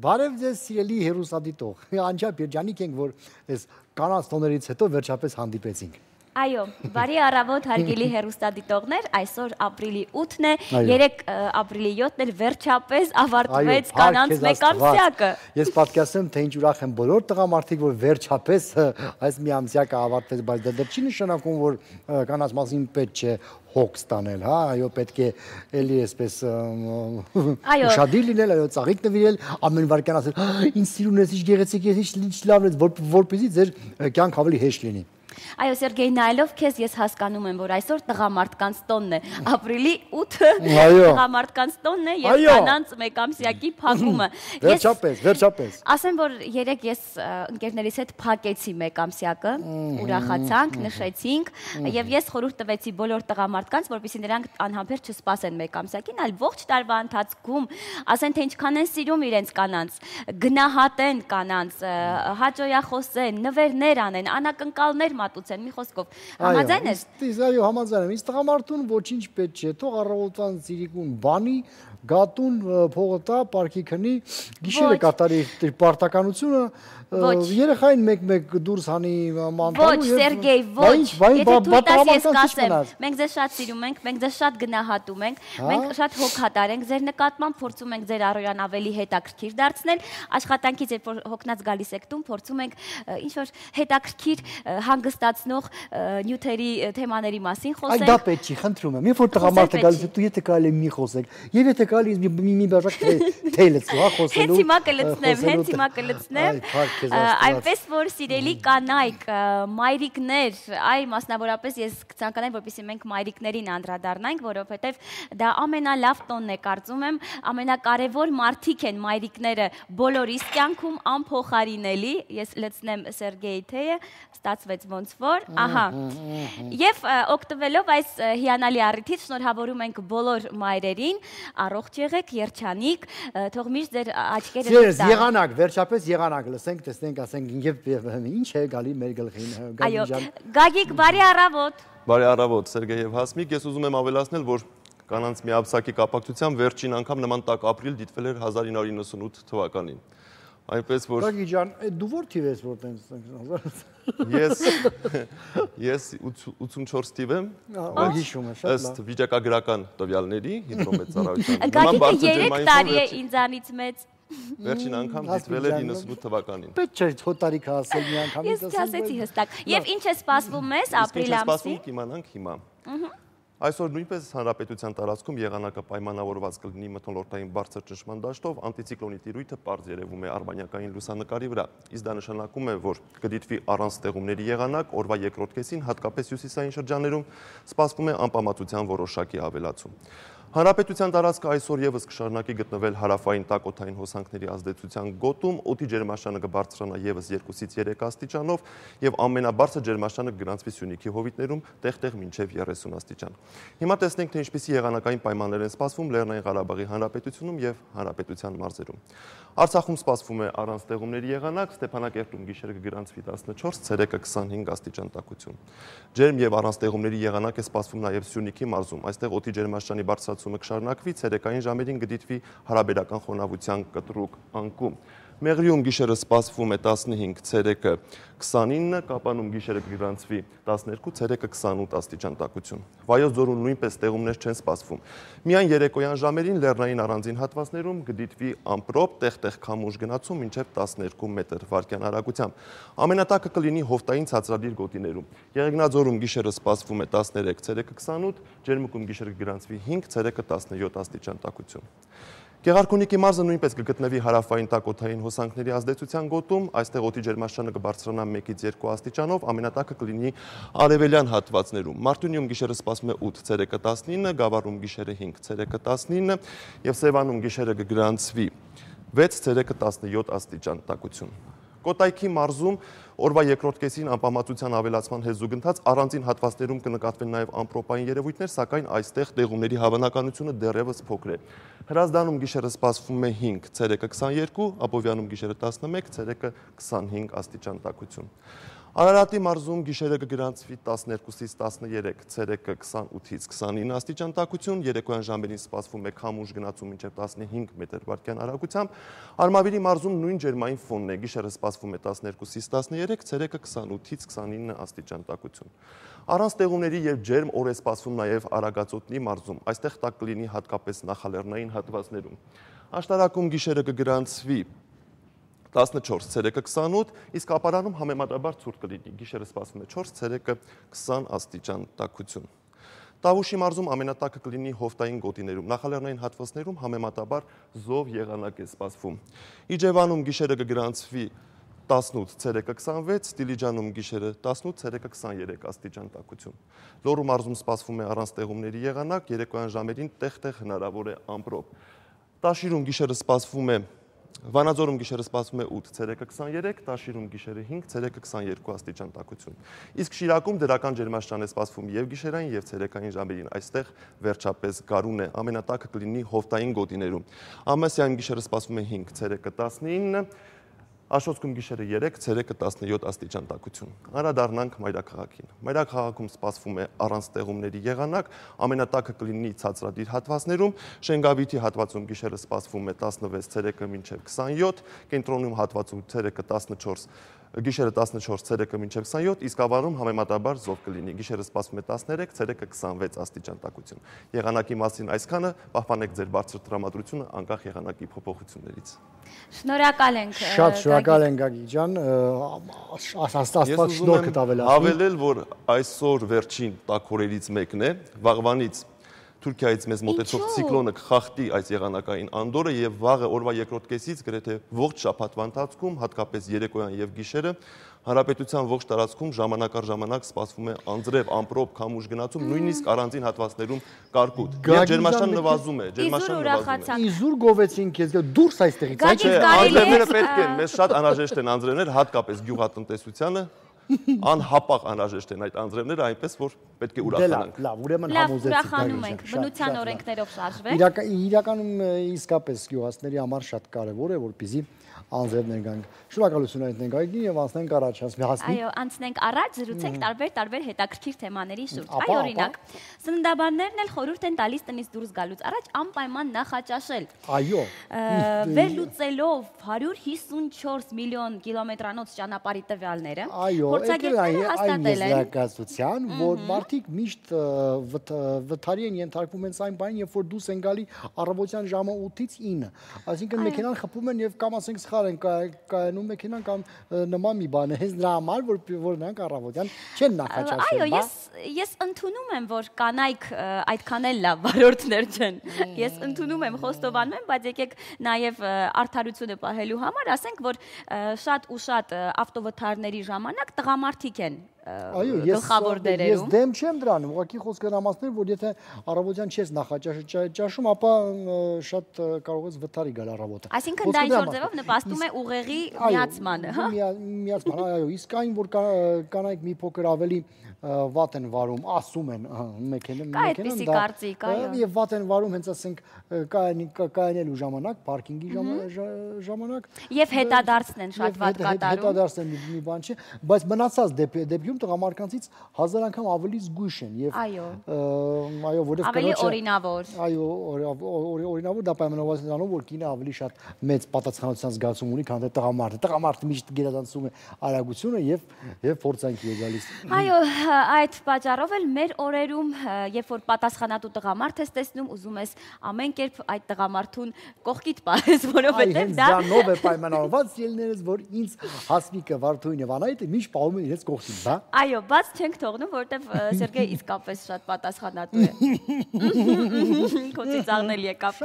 Բարև ձեզ սիրելի հեռուստադիտող, անչափ երջանիկ ենք, որ այս կանանց տոներից հետո վերջապես հանդիպեցինք։ Այո, բարի առավոտ հարգելի հեռուստադիտողներ, այսօր ապրիլի 8-ն է, 3 ապրիլի 7-ն էր վերջապես ավարտվեց կանանց մեկամսյակը։ Ես պատկերացնում, թե ինչ ուրախ են բոլոր տղամարդիկ, որ վերջապես այս միամսյակը ավարտվեց, բայց դա չի նշանակում, որ կանանց մասին պետք չէ հոգ ստանել, հա, այո, պետք է էլի այսպես ուշադիր լինել, այո, ծաղիկ նվիրել, ամեն վարքյան ասել, ինձ սիրուն ես, ինչ գեղեցիկ ես, ինչ լավն ես, որպեսզի ձեր կյանք ավելի հեշտ լինի։ Այո, Սերգեյ, նայելով քեզ ես հասկանում եմ, որ այսօր տղամարդկանց տոնն է, ապրիլի 8-ը տղամարդկանց տոնն է եւ կանանց մեկամսյակի փակումը։ Վերջապես։ Ասեմ, որ երեք ես ընկերներիս հետ փակեցի մեկամսյակը, ուրախացանք, նշեցինք եւ ես խորհուրդ տվեցի բոլոր տղամարդկանց, որպեսզի նրանք անհամբեր չսպասեն մեկամսյակին, այլ ողջ տարվա ընթացքում ասեն, թե ինչքան են սիրում իրենց կանանց, գնահատեն կանանց, հաճոյախոսեն, նվերներ անեն, անակնկալներ մատուցեն, մի խոսքով։ Համաձայն ես։ Այո, համաձայն եմ։ Իսկ տղամարդուն ոչինչ պետք չէ, թող առավոտվան ծիրիկուն բանի, գատուն փողը տա, պարկի քնի, գիշերը կատարի պարտականությունը, երեխային մեկ-մեկ դուրս հանի մանտալու։ Ոչ, Սերգեյ, ոչ։ Եթե թույլ տաս ես կասեմ, մենք ձեզ շատ սիրում ենք, մենք ձեզ շատ գնահատում ենք, մենք շատ հոգատար ենք ձեր նկատմամբ, փորձում ենք ձեր առօրյան ավելի հետաքրքիր դարձնել, աշխատանքից երբ որ հոգնած գալիս եք տուն, փորձում ենք ինչ-որ հետաքրքիր հանգստացնող նյութերի թեմաների մասին խոսենք։ Այդ դա պետք չի, խնդրում եմ։ Երբ որ տղամարդը գալիս է, դու եթե կարելի մի խոսեք, եւ եթե կարելի մի բաժակ թեյ լցու, հա, խոսելու։ Հենց հիմա կլցնեմ։ Այնպես որ սիրելի կանայք, մայրիկներ, այ մասնավորապես ես կցանկանայի, որպեսզի մենք մայրիկներին անդրադառնանք, որովհետեւ դա ամենալավ տոնն է, կարծում եմ, ամենակարևոր մարդիկ են մայրիկները բոլորիս կյանքում անփոխարինելի։ Ես լցնեմ Սերգեյի թեյը, ստացվեց ոնց որ, ահա։ Եվ օգտվելով այս հիանալի առիթից շնորհավորում ենք բոլոր մայրերին, առողջ եղեք, երջանիկ, թող միշտ ձեր աչքերը Սիրելիս, եղանակ, վերջապես եղանակ, լսենք, տեսնենք, ասենք, եւ ինչ է գալի մեր գլխին։ Այո, Գագիկ, բարի առավոտ։ Բարի առավոտ, Սերգեյ եւ Հասմիկ, ես ուզում եմ ավելացնել, որ կանանց միաբսակի կապակցությամբ վերջին անգամ նման տաք ապրիլ դիտվել էր 1998 թվականին։ Այնպես որ Գագիկ ջան, դու որ թիվ ես որ տենց Ես 84 թիվ եմ, հիշում եմ, շատ լավ։ Ըստ վիճակագրական տվյալների հիդրոմեծարայության։ Գագիկը 3 տարի է ինձանից մեծ։ Վերջին անգամ դիտվել էր 98 թվականին։ Պետք չէ հոտարիք ասել մի անգամից։ Ես չասեցի հստակ։ Եվ ինչ է սպասվում մեզ ապրիլ ամսին։ Կիմանանք հիմա։ Այսօր նույնպես հանրապետության տարածքում եղանակը պայմանավորված կլինի մթնոլորտային բարձր ճնշման դաշտով, անտիցիկլոնի տիրույթը պարզ երևում է արբանյակային լուսանկարի վրա։ Իսկ դա նշանակում է, որ կդիտվի առանց ստեղումների եղանակ, օրվա երկրորդ կեսին հատկապես հյուսիսային շրջաններում սպասվում է անպամատության որոշակի ավելացում։ Հանրապետության տարածքը այսօր եւս կշարունակի գտնվել հարավային տակոթային հոսանքների ազդեցության գոտում, օդի ջերմաստիճանը կբարձրանա եւս 2-ից 3 աստիճանով եւ ամենաբարձր ջերմաստիճանը կգրանցվի Սյունիքի հովիտներում տեղ-տեղ մինչեւ 30 աստիճան։ Հիմա տեսնենք, թե ինչպիսի եղանակային պայմաններ են սպասվում Լեռնային Ղարաբաղի Հանրապետությունում եւ Հանրապետության մարզերում։ Արցախում սպասվում է առանց ստեղումների եղանակ, Ստեփանակերտում գիշերը կգրանցվի 14, ցերեկը 25 աստիճան տաքություն։ Ջերմ եւ առանց ստեղումների եղանակ է սպասվում նաեւ Սյունիքի մարզում, այստեղ օդի ջերմաստիճանի բարձրացումը կշարունակվի, ցերեկային ժամերին կդիտվի հարաբերական խոնավության կտրուկ անկում։ Մեղրիում գիշերը սպասվում է 15, ցերեկը 29, Կապանում գիշերը կգրանցվի 12, ցերեկը 28 աստիճան տաքություն։ Վայոց ձորում նույնպես ստեղումներ չեն սպասվում։ Միայն երեկոյան ժամերին լեռնային առանձին հատվածներում կդիտվի ամպրոպ, տեղ-տեղ քամուշ գնացում մինչև 12 մետր վարկյան արագությամբ։ Ամենատակը կլինի հովտային ցածրադիր գոտիներում։ Եղեգնաձորում գիշերը սպասվում է 13, ցերեկը 28, Ջերմուկում գիշերը կգրանցվի 5, ցերեկը 17 աստիճան տաքություն։ Գեղարքունիքի մարզը նույնպես կգտնվի հարավային տակոթային հոսանքների ազդեցության գոտում, այստեղ օդի ջերմաստիճանը կբարձրանա 1-ից 2 աստիճանով, ամենատակը կլինի արևելյան հատվածներում։ Մարտունիում գիշերը սպասվում է 8, ցերեկը 19, Գավառում գիշերը 5, ցերեկը 19 եւ Սևանում գիշերը կգրանցվի 6, ցերեկը 17 աստիճան տաքություն։ Կոտայքի մարզում օրվա երկրորդ կեսին անպամատության ավելացման հեզուգընթաց առանձին հատվածներում կնկատվեն նաև ամպրոպային երևույթներ, սակայն այստեղ տեղումների հավանականությունը դեռևս փոքր է։ Հրազդանում գիշերը սպասվում է 5, ցերեկը 22, Աբովյանում գիշերը 11, ցերեկը 25 աստիճան տաքություն։ Արարատի մարզում գիշերը կգրանցվի 12-ից 13, ցերեկը 28-ից 29 աստիճան տաքություն, երեկոյան ժամերին սպասվում է քամուշ գնացում մինչև 15 մետր/վայրկյան արագությամբ։ Արմավիրի մարզում նույն ջերմային ֆոնն է, գիշերը սպասվում է 12-ից 13, ցերեկը 28-ից 29 աստիճան տաքություն։ Առանց տեղումների եւ ջերմ օր է սպասվում նաեւ Արագածոտնի մարզում, այստեղ տաք կլինի հատկապես նախալեռնային հատվածներում։ Աշտարակում գիշերը կգրանցվի 14, ցերեկը 28, իսկ ապարանում համեմատաբար ցուրտ կլինի, գիշերը սպասվում է 4, ցերեկը 20 աստիճան տաքություն։ Տավուշի մարզում ամենատակը կլինի հովտային գոտիներում, նախալեռնային հատվածներում համեմատաբար զով եղանակ է սպասվում։ Իջևանում գիշերը կգրանցվի 18, ցերեկը 26, Դիլիջանում գիշերը 18, ցերեկը 23 աստիճան տաքություն։ Լոռու մարզում սպասվում է առանց տեղումների եղանակ, երեկոյան ժամերին տեղ-տեղ հնարավոր է ամպրոպ։ Տաշիրում գիշերը սպասվում է Վանաձորում գիշերը սպասվում է 8, ցերեկը 23, Տաշիրում գիշերը 5, ցերեկը 22 աստիճան տաքություն։ Իսկ Շիրակում դրական ջերմաստիճան է սպասվում եւ գիշերային եւ ցերեկային ժամերին, այստեղ վերջապես գարուն է, ամենատակը կլինի հովտային գոտիներում։ Ամասյանում գիշերը սպասվում է 5, ցերեկը 19, Աշոտսկում գիշերը 3, ցերեկը 17 աստիճան տաքություն։ Անդրադառնանք մայրաքաղաքին։ Մայրաքաղաքում սպասվում է առանց տեղումների եղանակ, ամենատակը կլինի ցածրադիր հատվածներում, Շենգավիթի հատվածում գիշերը սպասվում է 16, ցերեկը մինչև 27, Կենտրոնում հատվածում ցերեկը 14, գիշերը 14, ցերեկը մինչև 27, իսկ ավարում համեմատաբար զով կլինի, գիշերը սպասվում է 13, ցերեկը 26 աստիճան տաքություն։ Եղանակի մասին այսքանը, պահպանեք ձեր բարձր տրամադրությունը անկախ եղանակի փոփոխություններից։ Շնորհակալ ենք։ Շատ շնորհակալ ենք Գագիկ ջան, աստված շնորհքդ ավելացնի։ Հավելել, որ այսօր վերջին տաք օրերից մեկն է, վաղվանից Թուրքիայից մեզ մոտեցող ցիկլոնը կխախտի այս եղանակային անդորը եւ վաղը օրվա երկրորդ կեսից գրեթե ողջ շաբաթվա ընթացքում, հատկապես երեկոյան եւ գիշերը, հանրապետության ողջ տարածքում ժամանակ առ ժամանակ սպասվում է անձրև, ամպրոպ, քամուշ գնացում, նույնիսկ առանձին հատվածներում կարկուտ։ Եվ ջերմաստիճանը նվազում է, Իզուր գովեցին քեզ դուրս այստեղից, այ չէ, անձրևները պետք են, մեզ շատ անհրաժեշտ են անձրևներ, հատկապես գյուղատնտեսությանը։ Անհապաղ անհրաժեշտ են այդ անձրևները, այնպես որ պետք է ուրախանանք։ Լավ, ուրեմն ուրախանում ենք, բնության օրենքներով շարժվենք։ Իրականում իսկապես գյուղացիների համար շատ կարևոր է, որպեսզի անձրևներ գանք։ Շնորհակալություն այդտեղ Գագիկին եւ անցնենք առաջ, հասնի։ Այո, անցնենք առաջ, զրուցենք տարբեր հետաքրքիր թեմաների շուրջ։ Այ օրինակ, սննդաբաններն էլ խորհուրդ են տալիս տնից դուրս գալուց առաջ անպայման նախաճաշել։ Այո։ Վերլուծելով 154 միլիոն կիլոմետրանոց ճանապարհի տվյալները, փորձագետները հաստատել են զարգացության, որ մարդիկ միշտ վթարի են ենթարկվում հենց այն բանին, երբ որ դուրս են գալի առավոտյան ժամը 8-ից 9, այսինքն մեքենան խփում են եւ կամ ասենք սխալ են կայանում մեքենան կամ նման մի բան է, հենց դրա համար որ նրանք առավոտյան չեն նախաճաշել։ Այո, ես ընդունում եմ, որ կանայք այդքան էլ լավ վարորդներ չեն։ Ես ընդունում եմ, խոստովանում եմ, բայց եկեք նաև արդարությունը պահելու համար ասենք, որ շատ ու շատ ավտովթարների ժամանակ տղամարդիկ են գլխավոր դերերում։ Ես դեմ չեմ դրանում, ուղղակի խոսքը հրամացնել, որ եթե առավոտյան չես նախաճաշում, ապա շատ կարող ես վթարի գալ առավոտը։ Այսինքն դա ինչ-որ ձևով նպաստում է ուղեղի միացմանը, հա։ Միացման, այո, իսկ այն որ կանայք մի փոքր ավելի վատ են վարում, ասում են մեքենան դա եւ վատ են վարում հենց ասենք կայանելու ժամանակ, պարկինգի ժամանակ եւ հետադարձն են շատ վատ կատարում։ Հետադարձն մի բան չէ, բայց մնացած դեպքում տղամարդկանցից 1000 անգամ ավելի զգույշ են եւ այո, որովհետեւ ավելի օրինավոր։ Այո, օրինավոր դա պայմանավորված է նրանով, որ կինը ավելի շատ մեծ պատասխանատվության զգացում ունի, քան թե տղամարդը։ Տղամարդը միշտ գերազանցում է արագությունը եւ փորձանքի է գալիս։ Այո, այդ պատճառով էլ մեր օրերում, երբ որ պատասխանատու տղամարդ ես տեսնում, ուզում ես ամեն կերպ այդ տղամարդուն կողքիդ պահես, որովհետև դա դրանով է պայմանավորված ելներս, որ ինձ Հասմիկը, Վարդուհին եւ Անահիտը միշտ պահում են իրենց կողքին, բա։ Այո, բաց չենք թողնում, որովհետև Սերգեյ իսկապես շատ պատասխանատու է։ Քո ծիծաղնել եկավ։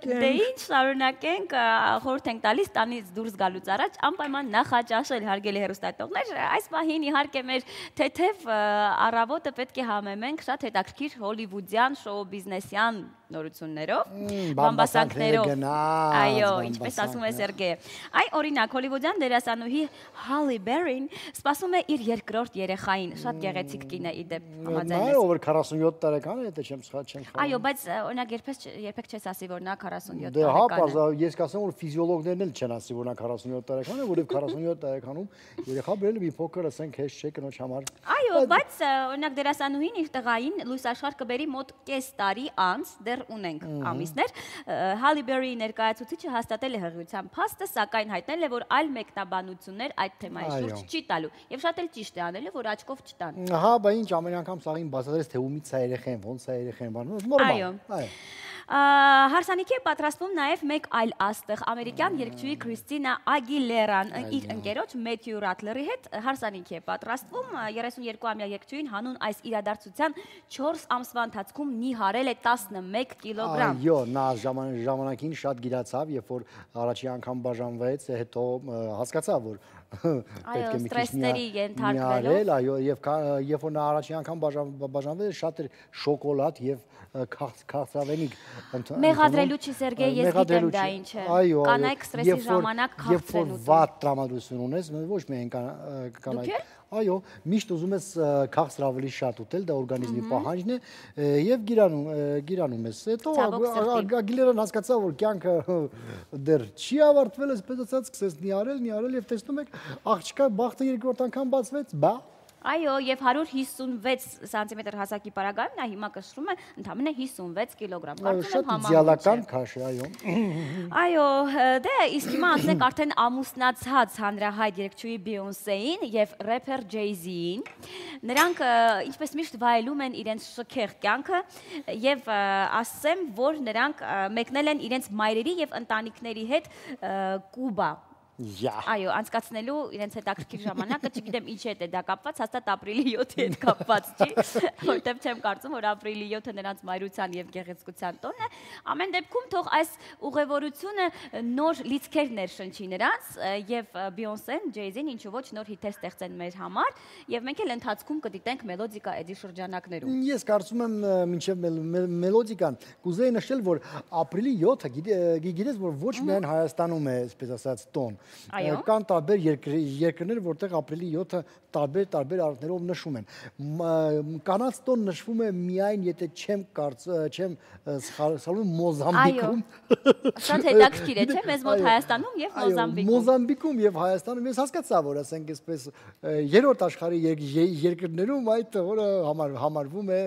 Դե ինչ շարունակենք, խորհուրդ ենք տալիս տանից դուրս գալուց առաջ անպայման նախաճաշել, հարգելի հեռուստատողներ, այս պահին իհարկե մեր թեթև առավոտը պետք է համեմենք շատ հետաքրքիր հոլիվուդյան շոու բիզնեսյան նորություններով, բամբասանքներով։ Այո, ինչպես ասում է Սերգեյը։ Այ օրինակ հոլիվուդյան դերասանուհի Հալի Բերին սպասում է իր երկրորդ երեխային, շատ գեղեցիկ կին է իդեպ համաձայն ով 47 տարեկան է, դա չեմ սխալվում։ Այո, բայց օրինակ երբեք չես ասի, որ նա 47 տարեկան է։ Դե հա, տարեկան ես կասեմ, որ ֆիզիոլոգներն էլ չեն ասի, որ նա 47 տարեկան է, որովհետև 47 տարեկանում երեխա բերելը մի փոքր ասենք հեշտ չէ կնոջ համար։ Այո, բայց օրինակ դերասանուհին իր տղային լույս աշխարհ կբերի մոտ կես տարի անց, դեռ ունենք ամիսներ։ Հալի Բերի ներկայացուցիչը հաստատել է հղիության փաստը, սակայն հայտնել է, որ այլ մեկնաբանություններ այդ թեմայի շուրջ չի տալու։ Եվ շատ էլ ճիշտ է անել, որ աչքով չտան։ Հա, բա ինչ ամեն անգամ սաղին բացատրես թե ումից է երեխեն, ոնց է երեխեն, բան, նորմալ։ Այո։ Հարսանիքի է պատրաստվում նաև մեկ այլ աստղ, ամերիկյան երգչուհի Քրիստինա Ագիլերան իր ընկերոջ Մեթյու Ռատլերի հետ հարսանիքի է պատրաստվում, 32-ամյա երգչուհին հանուն այս իրադարձության 4 ամսվա ընթացքում նիհարել է 11 կիլոգրամ։ Այո, նա ժամանակին շատ գիրացավ, երբ որ առաջի անգամ բաժանվեց, հետո հասկացավ, որ այո, ստրեսների ենթարկվելով, այո, եւ որ նա առաջի անգամ բաժանվել շատ էր շոկոլադ եւ քաղցրավենիք մեղադրելու չի Սերգեյ, ես գիտեմ դա ինչ է։ Կանայք ստրեսի ժամանակ քաղցր են ուտում։ Երբ որ վատ տրամադրություն ունես, ոչ միայն կանայք, այո, միշտ ուզում ես քաղցր ավելի շատ ուտել, դա օրգանիզմի պահանջն է եւ գիրանում ես։ Հետո Ագիլերան հասկացավ, որ կյանքը դեռ չի ավարտվել, այսպես ասած, սկսեց նիարել եւ տեսնում եք, աղջկա բախտը երկրորդ անգամ բացվեց, բա Այո, եւ 156 սանտիմետր հասակի պարագայում նա հիմա կշռում է ընդամենը 56 կիլոգրամ։ Շատ իդեալական քաշ է, այո։ Այո, դե իսկ հիմա անցնենք արդեն ամուսնացած հանրահայտ երգչուհի Բիյոնսեին եւ рэփեր Ջեյզիին։ Նրանք ինչպես միշտ վայելում են իրենց շքեղ կյանքը եւ ասեմ, որ նրանք մեկնել են իրենց մայրերի եւ ընտանիքների հետ Կուբա։ Այո, անցկացնելու իրենց հետաքրքիր ժամանակը, չգիտեմ ինչի հետ է դա կապված, հաստատ ապրիլի 7-ի հետ կապված չի, որտեղ չեմ կարծում, որ ապրիլի 7-ը նրանց մայրության եւ գեղեցկության տոնն է։ Ամեն դեպքում թող այս ուղևորությունը նոր լիցքեր ներշնչի նրանց եւ Բիյոնսեն, Ջեյզին ինչու ոչ նոր հիթեր ստեղծեն մեր համար եւ մենք էլ ընթացքում կդիտենք մելոդիկա էդի շրջանակներում։ Ես կարծում եմ մինչեւ մելոդիկան կուզեի նշել, որ ապրիլի 7-ը գիտես, որ ոչ միայն Հայաստանում է, այսպես ասած, տոն Կան տարբեր երկրներ, որտեղ ապրիլի 7-ը տարբեր առիթներով նշում են։ Կանանց տոն նշվում է միայն, եթե չեմ սխալվում, Մոզամբիկում։ Շատ հետաքրքիր է, չէ՞, մեզ մոտ Հայաստանում եւ Մոզամբիկում։ Մոզամբիկում եւ Հայաստանում ես հասկացա, որ ասենք այսպես երրորդ աշխարհի երկրներում այդ օրը համարվում է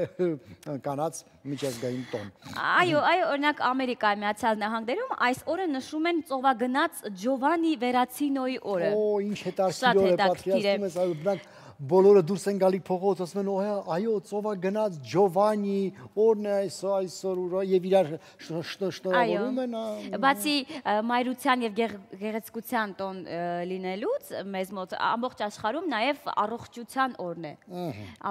կանանց միջազգային տոն։ Այո, օրինակ Ամերիկայի Միացյալ Նահանգներում այս օրը նշում են ծովագնաց Ջովանի Վերացինոյի օրը։ Օ, ինչ հետաքրքիր է, պատկերացնում ես, այո, դրանք բոլորը դուրս են գալի փողոց, ասում են, այո, ծովագնաց Ջովանի օրն է այսօր եւ իրար շնորհավորում են։ Բացի մայրության եւ գեղեցկության տոն լինելուց, մեզ մոտ ամբողջ աշխարհում նաեւ առողջության օրն է։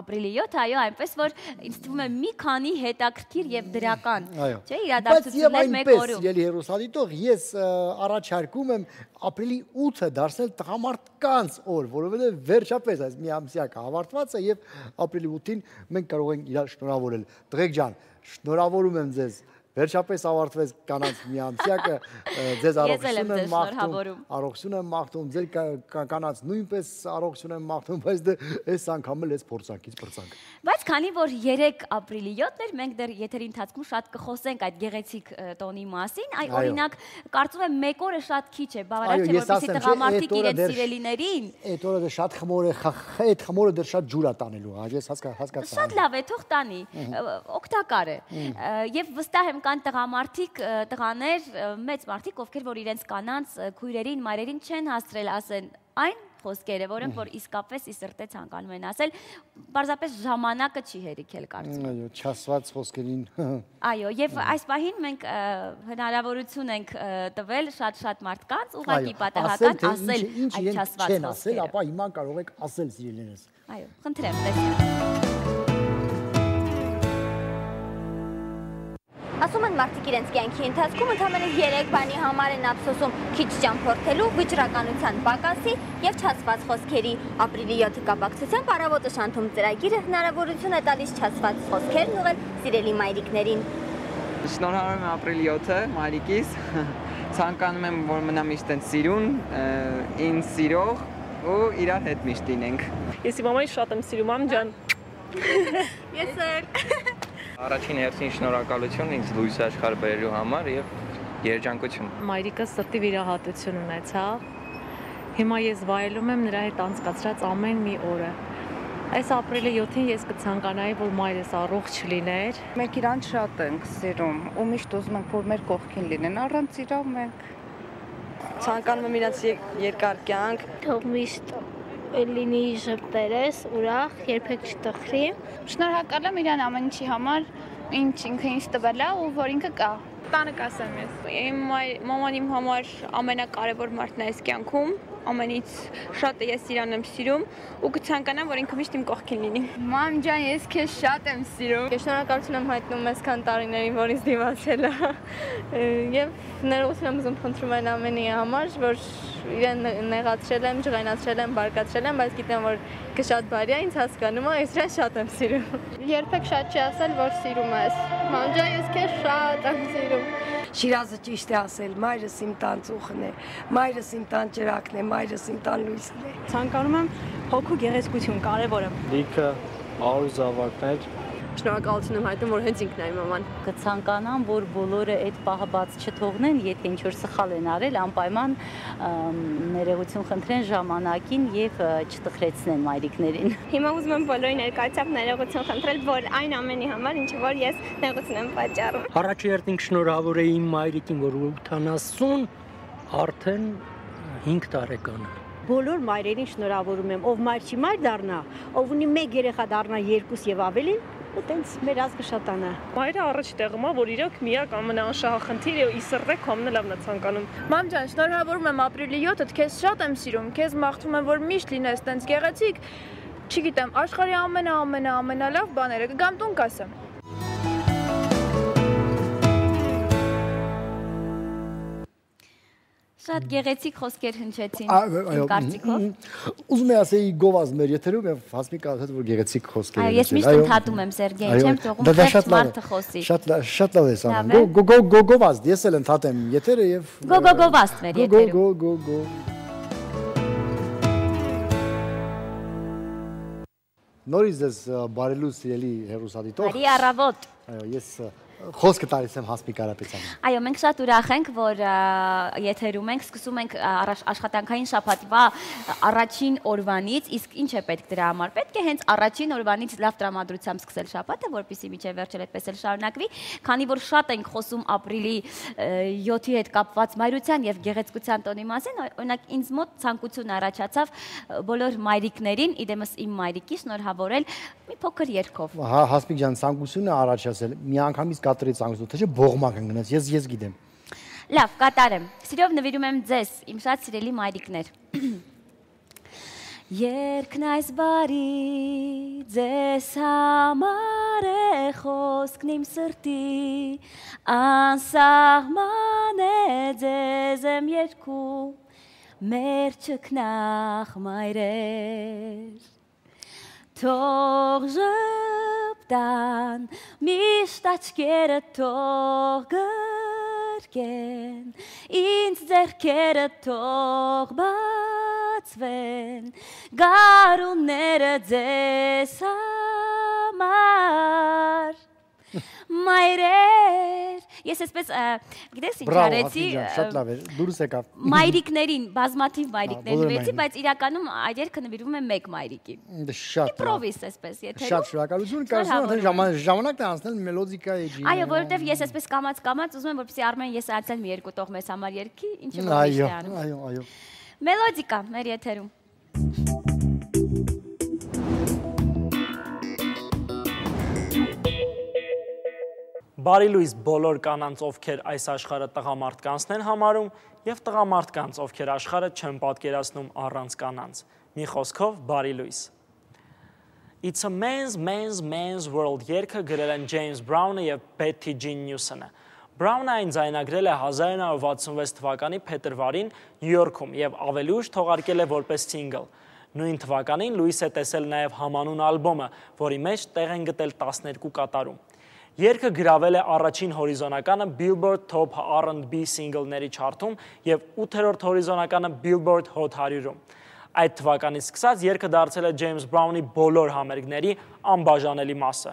Ապրիլի 7, այո, այնպես որ ինձ թվում է մի քանի հետաքրքիր եւ դրական, չէ՞, իրադարձություններ մեկ օրում։ Ելի հերոսադիտող, ես առաջարկում եմ ապրիլի 8-ը դարձնել տղամարդկանց օր, որովհետեւ վերջապես այս մի ամսյակը ավարտված է եւ ապրիլի 8-ին մենք կարող ենք իրար շնորհավորել։ Տղեկ ջան, շնորհավորում եմ ձեզ։ Վերջապես ավարտվեց կանանց մի ամսյակը, ձեզ առողջություն եմ մաղթում, ձեր կանանց նույնպես առողջություն եմ մաղթում, բայց դե այս անգամ էլ ես փորձանքից պրծանք։ Բայց քանի որ 3 ապրիլի 7-ն էր, մենք դեռ եթերի ընթացքում շատ կխոսենք այդ գեղեցիկ տոնի մասին, այ օրինակ կարծում եմ մեկ օրը շատ քիչ է, բավարար չէ որպեսզի տղամարդիկ իրենց սիրելիներին։ Այդ օրը շատ խմոր է, այդ խմորը դեռ շատ ջուր է տանելու, ես հասկացա։ Շատ լավ է, թող տանի, օգտակար է։ Եվ վստահ եմ կան տղամարդիկ, տղաներ, մեծ մարդիկ, ովքեր որ իրենց կանանց քույրերին, մայրերին չեն հասցրել ասեն այն խոսքերը, որոնք որ իսկապես ի սրտե ցանկանում են ասել, պարզապես ժամանակը չի հերիքել կարծում։ Այո, չասված խոսքերին։ Այո, եւ այս պահին մենք հնարավորություն ենք տվել շատ մարդկանց ուղղակի պատահական ասել այդ չասված խոսքերը։ Ապա հիմա կարող եք ասել սիրելիներս։ Այո, խնդրեմ, տեսնեմ։ Ասում են մարդիկ իրենց կյանքի ընթացքում ընդամենը 3 բանի համար են ափսոսում՝ քիչ ճամփորդելու, վճռականության պակասի եւ չասված խոսքերի։ Ապրիլի 7-ի կապակցությամբ Առավոտը Շանթում ծրագիրը հնարավորություն է տալիս չասված խոսքերն ուղղել սիրելի մայրիկներին։ Շնորհավորում եմ ապրիլի 7-ը մայրիկիս։ Ցանկանում եմ, որ մնա միշտ են սիրուն, ինձ սիրող ու իրար հետ միշտ լինենք։ Ես իմ մամային շատ եմ սիրում, մամ ջան։ Ես էլ։ Առաջին հերթին շնորհակալություն ինձ լույս աշխարհ բերելու համար եւ երջանկություն։ Մայրիկը սրտի վիրահատություն ունեցավ։ Հիմա ես վայելում եմ նրա հետ անցկացրած ամեն մի օրը։ Այս ապրիլի 7-ին ես կցանկանայի, որ մայրս առողջ լիներ։ Մենք իրան շատ ենք սիրում ու միշտ ուզում ենք, որ մեր կողքին լինեն, առանց իրա մենք Ցանկանում եմ իրանց երկար կյանք։ Թող միշտ լինի ժպտերես, ուրախ, երբեք չտխրի։ Շնորհակալ եմ իրան ամեն ինչի համար, ինչ ինքը ինձ տվել է ու որ ինքը կա։ Տանը կասեմ ես։ Իմ մաման իմ համար ամենակարևոր մարդն է այս կյանքում, ամենից շատը ես իրան եմ սիրում ու կցանկանամ, որ ինքը միշտ իմ կողքին լինի։ Մամ ջան, ես քեզ շատ եմ սիրում։ Շնորհակալություն եմ հայտնում այսքան տարիներին, որ ինձ դիմացել է։ Եվ ներողություն եմ ուզում խնդրում այն ամենի համար, որ իրեն նեղացրել եմ, ջղայնացրել եմ, բարկացրել եմ, բայց գիտեմ, որ ինքը շատ բարի է, ինձ հասկանում է, ես իրեն շատ եմ սիրում։ Երբեք շատ չի ասել, որ սիրում ես։ Մամ ջան, ես քեզ շատ եմ սիրում։ Շիրազը ճիշտ է ասել, մայրս իմ տան ծուխն է, մայրս իմ տան ճրակն է, մայրս իմ տան լույսն է։ Ցանկանում եմ հոգու գեղեցկություն, կարևորը։ Լիքը առու զավակներ։ Շնորհակալություն եմ հայտնում, որ հենց ինքն է իմ մաման։ Կցանկանամ, որ բոլորը այդ պահը բաց չթողնեն, եթե ինչ-որ սխալ են արել, անպայման ներողություն խնդրեն ժամանակին եւ չտխրեցնեն մայրիկներին։ Հիմա ուզում եմ բոլորի ներկայությամբ ներողություն խնդրել, որ այն ամենի համար, ինչ որ ես նեղություն եմ պատճառում։ Առաջի հերթին շնորհավոր եմ իմ մայրիկին, որ 80 արդեն 5 տարեկան է։ Բոլոր մայրերին շնորհավորում եմ, ով մայր չի մայր դառնա, ով ունի 1 երեխա դառնա 2 եւ ավելին, ու տենց մեր ազգը շատանա։ Մայրը առաջ տեղում է, որ իրոք միակ ամենաանշահախնդիրը ու իսրտե քամն լավն է ցանկանում։ Մամ ջան, շնորհավորում եմ ապրիլի 7-ը, քեզ շատ եմ սիրում, քեզ մաղթում եմ, որ միշտ լինես տենց գեղեցիկ։ Չգիտեմ, աշխարհի ամենալավ բաները կգամ տուն կասեմ։ Շատ գեղեցիկ խոսքեր հնչեցին իմ կարծիքով։ Ուզում եմ ասեի գովազ մեր եթերում եւ Հասմիկը ասաց որ գեղեցիկ խոսքեր են։ Այո, ես միշտ ընդհատում եմ Սերգեյ, չեմ թողում խեղճ մարդը խոսի։ Շատ լավ ես անում։ Գովազ, ես էլ ընդհատեմ եթերը եւ Գովազ մեր եթերում։ Գո։ Նորից ես բարելու սիրելի հերոսադիտող։ Բարի առավոտ։ Այո, ես խոսքը տալիս եմ Հասմիկ Կարապետյանին։ Այո, մենք շատ ուրախ ենք, որ եթերում ենք, սկսում ենք աշխատանքային շաբաթվա առաջին օրվանից, իսկ ինչ է պետք դրա համար։ Պետք է հենց առաջին օրվանից լավ տրամադրությամբ սկսել շաբաթը, որպեսզի մինչև վերջել այդպես էլ շարունակվի, քանի որ շատ ենք խոսում ապրիլի 7-ի հետ կապված մայրության եւ գեղեցկության տոնի մասին, օրինակ ինձ մոտ ցանկություն առաջացավ բոլոր մայրիկներին, իդեմս իմ մայրիկի շնորհավորել մի փոքր երգով։ Հա, Հասմիկ ջան, ցանկությունը առաջացել։ Միանգամից կատարեց անգլուտ, թե չէ բողմակ ընկնեց, ես գիտեմ։ Լավ, կատարեմ։ Սիրով նվիրում եմ ձեզ, իմ շատ սիրելի մայրիկներ։ Երգն այս բարի ձեզ համար է խոսքն իմ սրտի, անսահման է ձեզ եմ երգում, մեր չքնախ մայրեր։ Թող ժպտան, միշտ աչքերը թող գրկեն, ինձ ձեռքերը թող բացվեն, գարունները ձեզ համար, մայրեր, ես այսպես, գիտես ինչ արեցի, շատ լավ էր, դուրս եկավ։ Մայրիկներին, բազմաթիվ մայրիկներ նվիրեցի, բայց իրականում այդ երգը նվիրվում է մեկ մայրիկի։ Շատ լավ։ Իպրովիս այսպես, եթե Շատ շնորհակալություն, կարծում եմ ժամանակն է անցնել մելոդիկայի ջի։ Այո, որովհետև ես այսպես կամած ուզում եմ, որպեսզի Արմեն ես այցել մի երկու տող մեզ համար երգի, ինչը որ միշտ է անում։ Այո։ Մելոդիկա մեր եթերում։ Բարի լույս բոլոր կանանց, ովքեր այս աշխարհը տղամարդկանցն են համարում, եւ տղամարդկանց, ովքեր աշխարհը չեն պատկերացնում առանց կանանց։ Մի խոսքով բարի լույս։ It's a man's world երգը գրել են Ջեյմս Բրաունը եւ Բեթի Ջին Նյուսոնը։ Բրաունը այն ձայնագրել է 1966 թվականի փետրվարին Նյու Յորքում եւ ավելի ուշ թողարկել է որպես սինգլ։ Նույն թվականին լույս է տեսել նաեւ համանուն ալբոմը, որի մեջ տեղ են գտել 12 կատարում։ Երգը գրավել է առաջին հորիզոնականը Billboard Top R&B սինգլների չարթում եւ 8-րդ հորիզոնականը Billboard Hot 100-ում։ Այդ թվականից սկսած երգը դարձել է Ջեյմս Բրաունի բոլոր համերգների անբաժանելի մասը։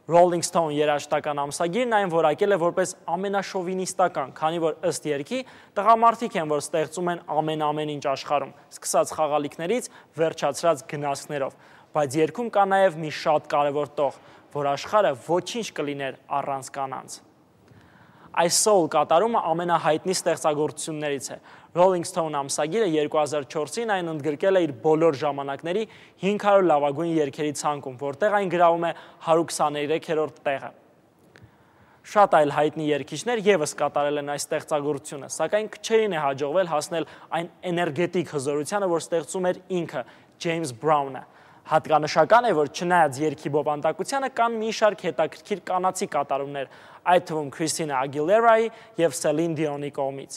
Rolling Stone երաժշտական ամսագիրն այն որակել է որպես ամենաշովինիստական, քանի որ ըստ երգի տղամարդիկ են, որ ստեղծում են ամեն ինչ աշխարհում, սկսած խաղալիքներից վերջացրած գնացքներով, բայց երգում կա նաև մի շատ կարևոր տող, որ աշխարհը ոչինչ կլիներ առանց կանանց։ Այս soul կատարումը ամենահայտնի ստեղծագործություններից է։ Rolling Stone ամսագիրը 2004-ին այն ընդգրկել է իր բոլոր ժամանակների 500 լավագույն երգերի ցանկում, որտեղ այն գրավում է 123-րդ տեղը։ Շատ այլ հայտնի երգիչներ ևս կատարել են այս ստեղծագործությունը, սակայն քչերին է հաջողվել հասնել այն էներգետիկ հզորությանը, որ ստեղծում էր ինքը Ջեյմս Բրաունը։ Հատկանշական է, որ չնայած երգի բովանդակությանը կան մի շարք հետաքրքիր կանացի կատարումներ, այդ թվում Քրիստինա Ագիլերայի և Սելին Դիոնի կողմից։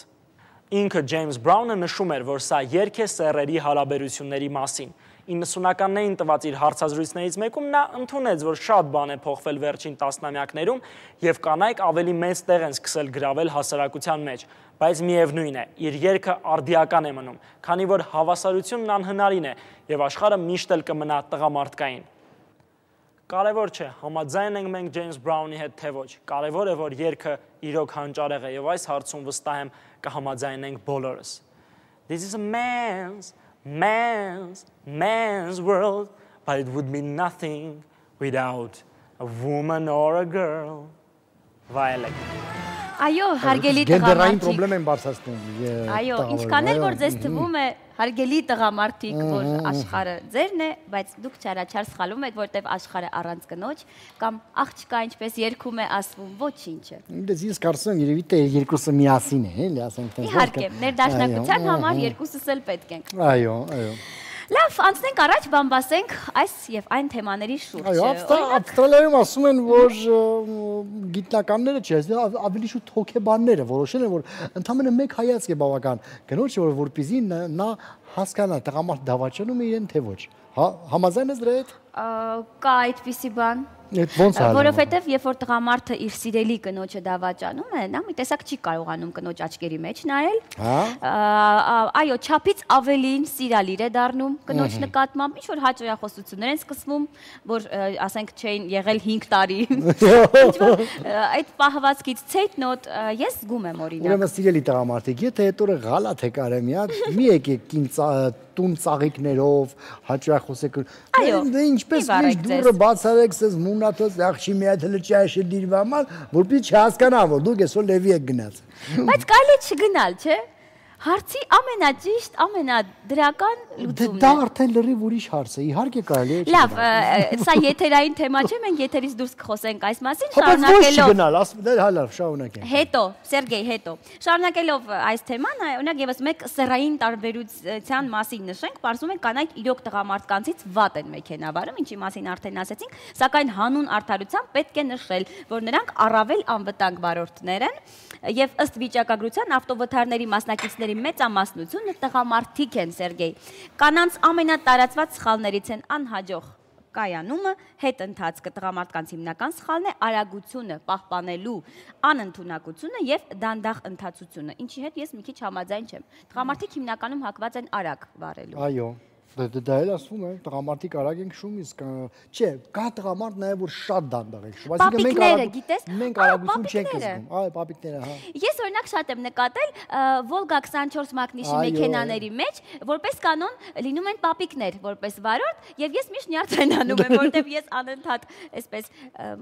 Ինքը Ջեյմս Բրաունը նշում էր, որ սա երգ է սեռերի հարաբերությունների մասին։ 90-ականներին տված իր հարցազրույցներից մեկում նա ընդունեց, որ շատ բան է փոխվել վերջին տասնամյակներում և կանայք ավելի մեծ տեղ են սկսել գրավել հասարակության մեջ, բայց միևնույն է, իր երգը արդիական է մնում, քանի որ հավասարությունն անհնարին է և աշխարհը միշտ էլ կմնա տղամարդկային։ Կարևոր չէ, համաձայն ենք մենք Ջեյմս Բրաունի հետ թե ոչ, կարևոր է, որ երգը իրոք հանճարեղ է և այս հարցում վստահ եմ կհամաձայնենք բոլորս։ This is a man's world, but it would be nothing without a woman or a girl. Վայելեք։ Այո, հարգելի գենդերային տղամարդիկ։ պրոբլեմ են բարձրացնում։ Այո, ինչքան էլ որ ձեզ թվում է հարգելի տղամարդիկ, որ աշխարհը ձերն է, բայց դուք չարաչար սխալվում եք, որտեվ աշխարհը առանց կնոջ կամ աղջկա ինչպես երգում է ասվում, ոչինչ է։ Ես կարծում եմ երևի թե երկուսը միասին է, էլի ասենք թե։ Իհարկե, ներդաշնակության համար երկուսս էլ պետք են։ Այո, այո։ Լավ, անցնենք առաջ, բամբասենք այս եւ այն թեմաների շուրջ։ Այո, Ավստրալիայում ասում են, որ գիտնականները չէ, ավելի շուտ հոգեբանները որոշել են, որ ընդամենը մեկ հայացք է բավական կնոջը, որպեսզի նա հասկանա տղամարդ դավաճանում է իրեն թե ոչ։ Համաձայն ես դրա հետ։ Կա այդպիսի բան։ Ոնց է։ Որովհետև երբ որ տղամարդը իր սիրելի կնոջը դավաճանում է, նա մի տեսակ չի կարողանում կնոջ աչքերի մեջ նայել։ Այո, չափից ավելին սիրալիր է դառնում կնոջ նկատմամբ, ինչ որ հաճոյախոսություններ են սկսվում, որ ասենք չէին եղել 5 տարի։ Ինչ որ այդ պահվածքից ցեյտնոտ ես զգում եմ օրինակ։ Ուրեմն սիրելի տղամարդիկ, եթե այդ օրը գալաթ եք արել մի հատ, մի եկեք տուն ծաղիկներով, հաճախոսեք։ Այո, ինչպես միշտ դուրը բացարեք, սես մունաթոս աղջի մի հատ լճաշը դիրվաման, որպեսզի չհասկանան, որ դուք այսօր լևի եք գնաց։ Բայց կարելի է չգնալ, չէ՞։ Հարցի ամենաճիշտ, ամենադրական լուծումն է։ Դա արդեն լրիվ ուրիշ հարց է, իհարկե կարելի է։ Լավ, սա եթերային թեմա չէ, մենք եթերից դուրս կխոսենք այս մասին, շարունակելով։ Չգնալ, լավ, շարունակենք։ Հետո, Սերգեյ, հետո։ Շարունակելով այս թեման, օրինակ եւս մեկ սեռային տարբերության մասին նշենք, պարզում ենք կանայք իրոք տղամարդկանցից վատ են մեքենա վարում, ինչի մասին արդեն ասեցինք, սակայն հանուն արդարության պետք է նշել, որ նրանք առավել անվտանգ վարորդներ են եւ ըստ վիճակագրության ավտովթարների մասնակիցների մեծամասնությունը տղամարդիկ են, Սերգեյ։ Կանանց ամենատարածված սխալներից են անհաջող կայանումը, հետընթացքը, տղամարդկանց հիմնական սխալն է արագությունը, պահպանելու անընդունակությունը եւ դանդաղ ընթացությունը, ինչի հետ ես մի քիչ համաձայն չեմ։ Տղամարդիկ հիմնականում հակված են արագ վարելու։ Այո։ Դա էլ ասվում է, տղամարդիկ արագ ենք շում, իսկ չէ, կա տղամարդ նաև որ շատ դանդաղ ենք շում, այսինքն մենք արագություն չենք զգում, այո, պապիկները, հա։ Ես օրինակ շատ եմ նկատել Volga 24 մակնիշի մեքենաների մեջ, որպես կանոն լինում են պապիկներ, որպես վարորդ, եւ ես միշտ նյարդայնանում եմ, որովհետեւ ես անընդհատ այսպես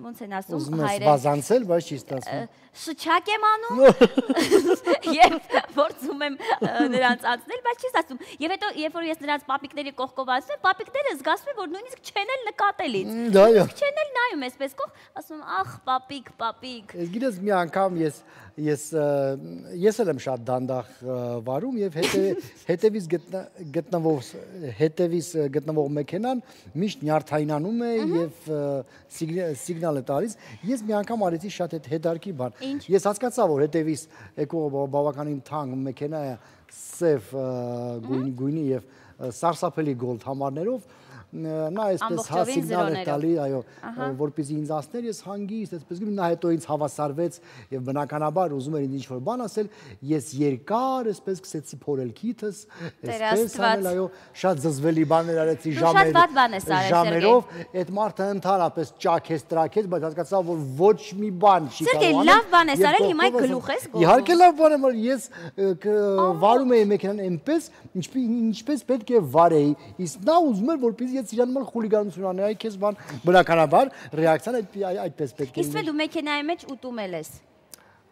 ոնց են ասում, ուզում ես վազանցել, բայց չի ստացվում։ Շչակ եմ անում եւ փորձում եմ նրանց անցնել, բայց չի ստացվում։ Եվ հետո երբ որ ես նրանց պապիկների կողքով ասում եմ, պապիկները զգացում են, որ նույնիսկ չեն էլ նկատել ինձ։ Չեն էլ նայում այսպես կողք, ասում ախ, պապիկ, պապիկ։ Ես գիտես մի անգամ ես էլ եմ շատ դանդաղ վարում եւ հետևից գտնվող մեքենան միշտ նյարդայնանում է եւ սիգնալ է տալիս։ Ես մի անգամ արեցի շատ հետարքի բան։ Ես հասկացա, որ հետևից եկող բավականին թանկ մեքենա է սև գույնի եւ սարսափելի գոլդ համարներով նա այսպես սիգնալ էր տալի, այո, որպեսզի ինձ ասներ, ես հանգիստ, այսպես գնում, նա հետո ինձ հավասարվեց եւ բնականաբար ուզում էր ինձ ինչ-որ բան ասել, ես երկար այսպես սկսեցի փորել քիթս, այսպես անել, այո, շատ զզվելի բաներ արեցի ժամերով, այդ մարդը ընդհանրապես ճաքեց, տրաքեց, բայց հասկացա, որ ոչ մի բան չի կարող անել։ Սերգեյ, լավ բան ես արել, հիմա գլուխ ես գոռում։ Իհարկե լավ բան եմ արել, ես վարում էի մեքենան այնպես, ինչպես պետք է վարեի, իսկ նա ուզում էր, որպեսզի ես իրան մալ խուլիգանություն անեի, այ քեզ բան բնականաբար ռեակցիան այդպես պետք է լինի։ Իսկ դու մեքենայի մեջ ուտում ես։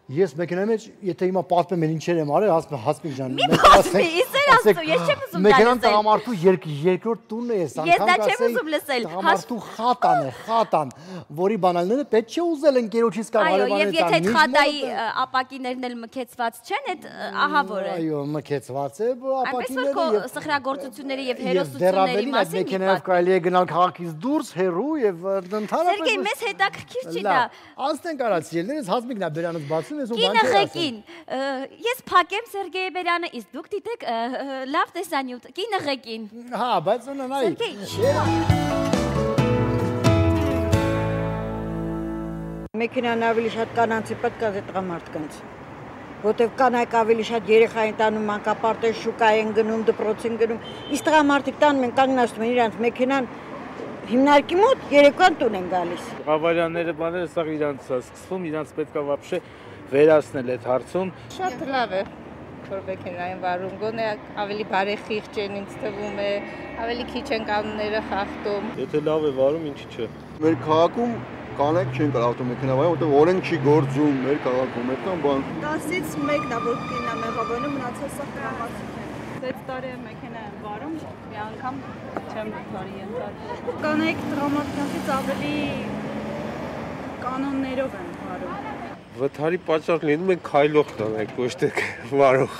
Ես մեքենայի մեջ, եթե հիմա պատմեմ էլ ինչեր եմ արել, Հասմիկ ջան, մի պատմի, իսեր ասու, ես չեմ ուզում դա լսել։ Մեքենան տղամարդու երկրորդ տունն է, ես դա չեմ ուզում լսել։ Տղամարդու խատան է, խատան, որի բանալները պետք չէ ուզել ընկերոջից կամ հարևաններից։ Այո, եւ եթե այդ խատայի ապակիներն էլ մքեցված չեն, այդ ահավոր է։ Այո, մքեցված է ապակիները։ Այնպես որ սխրագործությունների եւ հերոսությունների մասին մեքենայով կարելի է գնալ քաղաքից դուրս, հեռու եւ ընդհանրապես։ Սերգեյ, մեզ հետաքրքիր չի դա։ Անցնենք արած ելներս Հասմիկն է բերանից բացում։ Կինը ղեկին, ես փակեմ Սերգեյ Բերյանը, իսկ դուք դիտեք լավ տեսանյութ, կինը ղեկին։ Հա, բայց նայ։ Մեքենան ավելի շատ կանանցի պետք է տղամարդկանց, որտեվ կանայք ավելի շատ երեխա են տանում, մանկապարտեզ շուկա են գնում, դպրոց են գնում, իսկ տղամարդիկ տանում են կանգնացնում են իրանց մեքենան հիմնարկի մոտ երեկոյան տուն են գալիս։ Ավարյանները բաները սա իրանց է սկսվում, իրանց պետք է վաբշե վերացնել այդ հարցում։ Շատ լավ է, որ մեքենային վարում, գոնե ավելի բարեխիղճ են ինձ թվում է, ավելի քիչ են կանոնները խախտում։ Եթե լավ է վարում, ինչի՞ չէ։ Մեր քաղաքում կանայք չեն կարող ավտոմեքենա վարել, որտեղ օրենք չի գործում մեր քաղաքում, այդքան բան։ 10-ից 1-ն է, որ կինն է մեղավորում, մնացած սա տղամարդիկ է։ 6 տարի է մեքենա եմ վարում, մի անգամ չեմ բարի ենթարկել։ Կանայք տղամարդկանցից ավելի կանոններով են վարում։ Վթարի պատճառ լինում են քայլող կանայք, ոչ թե վարող։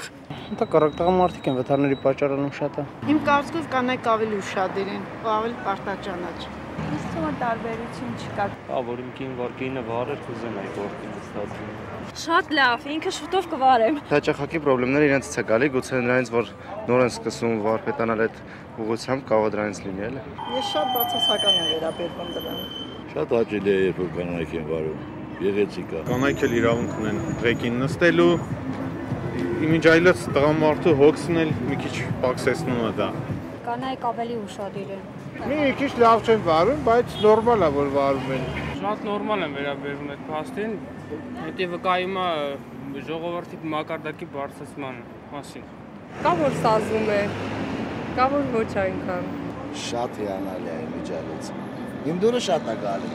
Դա կարակ տղամարդիկ են վթարների պատճառանում շատ է։ Իմ կարծիքով կանայք ավելի ուշադիր են, ավելի պարտաճանաչ։ Ինձ թվում է տարբերություն չկա։ Հա, որ իմ կինը վարեր, կուզեմ այդ գործին ստացվում։ Շատ լավ, ինքը շուտով կվարեմ։ Հաճախակի խնդիրները իրենց է գալի, գուցե նրանից որ նոր են սկսում վարպետանալ այդ ուղղությամբ, կարող է դրանից լինի, էլի։ Ես շատ բացասական եմ վերաբերվում դրան։ Շատ հաճելի է, երբ որ կանայք են վարում։ Գեղեցիկ է։ Կանայք էլ իրավունք ունեն ղեկին նստելու, իմիջ այլոց տղամարդու հոգսն էլ մի քիչ պակսեցնում է դա։ Կանայք ավելի ուշադիր են։ Մի քիչ լավ չեն վարում, բայց նորմալ է, որ վարում են։ Շատ նորմալ եմ վերաբերվում այդ փաստին, հետո վկայում է ժողովրդի մակարդակի բարձրացման մասին։ Կա որ սազում է, կա որ ոչ այնքան։ Շատ հիանալի է միջալից։ Իմ դուրը շատ է գալի։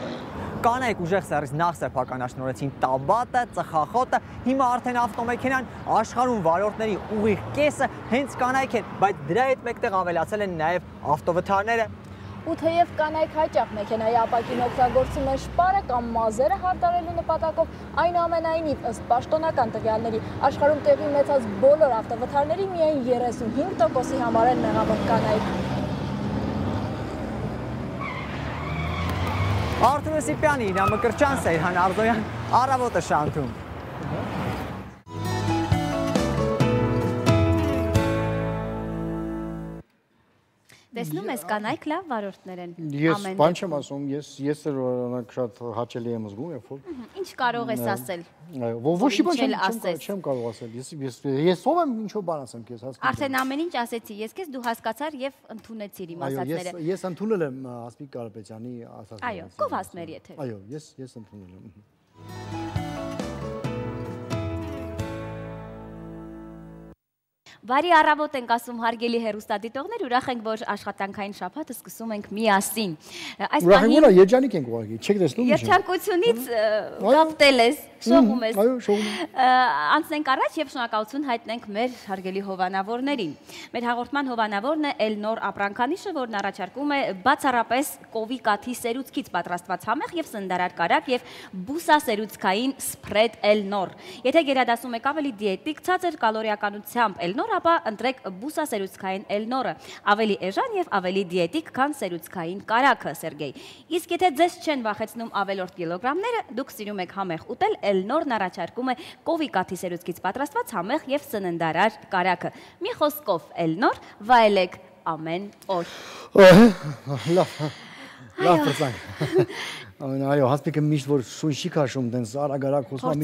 Կանայք ուժեղ սերից նախ սեփականաշնորհեցին տաբատը, ծխախոտը, հիմա արդեն ավտոմեքենան աշխարհում վարորդների ուղիղ կեսը հենց կանայք են, բայց դրա հետ մեկտեղ ավելացել են նաև ավտովթարները։ Ու թեև կանայք հաճախ մեքենայի ապակին օգտագործում են շպարը կամ մազերը հարդարելու նպատակով, այնուամենայնիվ ըստ պաշտոնական տվյալների աշխարհում տեղի ունեցած բոլոր ավտովթարների միայն 35%-ի համար են մեղավոր կանայք։ Արթուր Սիպյանի, Իրա Մկրտչյան, Սեյհան Արզոյան, Առավոտը շանթում։ Տեսնում ես կանայք լավ վարորդներ են։ Ես բան չեմ ասում, ես էլ օրինակ շատ հաճելի եմ զգում, երբ որ ինչ կարող ես ասել։ Ոչի բան չեմ կարող ասել։ Ես ով եմ ինչ-որ բան ասեմ քեզ, հասկանում։ Արդեն ամեն ինչ ասեցի, ես քեզ դու հասկացար եւ ընդունեցիր իմ ասածները։ Այո, ես ընդունել եմ Ասմիկ Կարապետյանի ասածները։ Այո, կովասմերի եթե։ Այո, ես ընդունել եմ։ Բարի առավոտ ենք ասում հարգելի հեռուստադիտողներ, ուրախ ենք, որ աշխատանքային շաբաթը սկսում ենք միասին։ Ուրախ ենք, որ երջանիկ ենք ուղղակի, չեք տեսնում ինչ։ Երջանկությունից կապտել ես, շողում ես։ Այո, շողում եմ։ Անցնենք առաջ եւ շնորհակալություն հայտնենք մեր հարգելի հովանավորներին։ Մեր հաղորդման հովանավորն է Էլնոր ապրանքանիշը, որն առաջարկում է բացառապես կովի կաթի սերուցքից պատրաստված համեղ եւ սննդարար կարագ եւ բուսասերուցքային սփրեդ Էլնոր։ Եթե գերադասում եք ավելի դիետիկ, ցածր կալորիականությամբ Էլնոր, ապա ընտրեք բուսասերուցքային Էլնորը, ավելի էժան եւ ավելի դիետիկ, քան սերուցքային կարագը, Սերգեյ։ Իսկ եթե ձեզ չեն վախեցնում ավելորդ կիլոգրամները, դուք սիրում եք համեղ ուտել, Էլնորն առաջարկում է կովի կաթի սերուցքից պատրաստված համեղ եւ սննդարար կարագը։ Մի խոսքով Էլնոր, վայելեք ամեն օր։ Լավ պրծանք։ Այո, հասպիկը միշտ որ շուն չի քաշում, տենց արագ-արագ խոսում,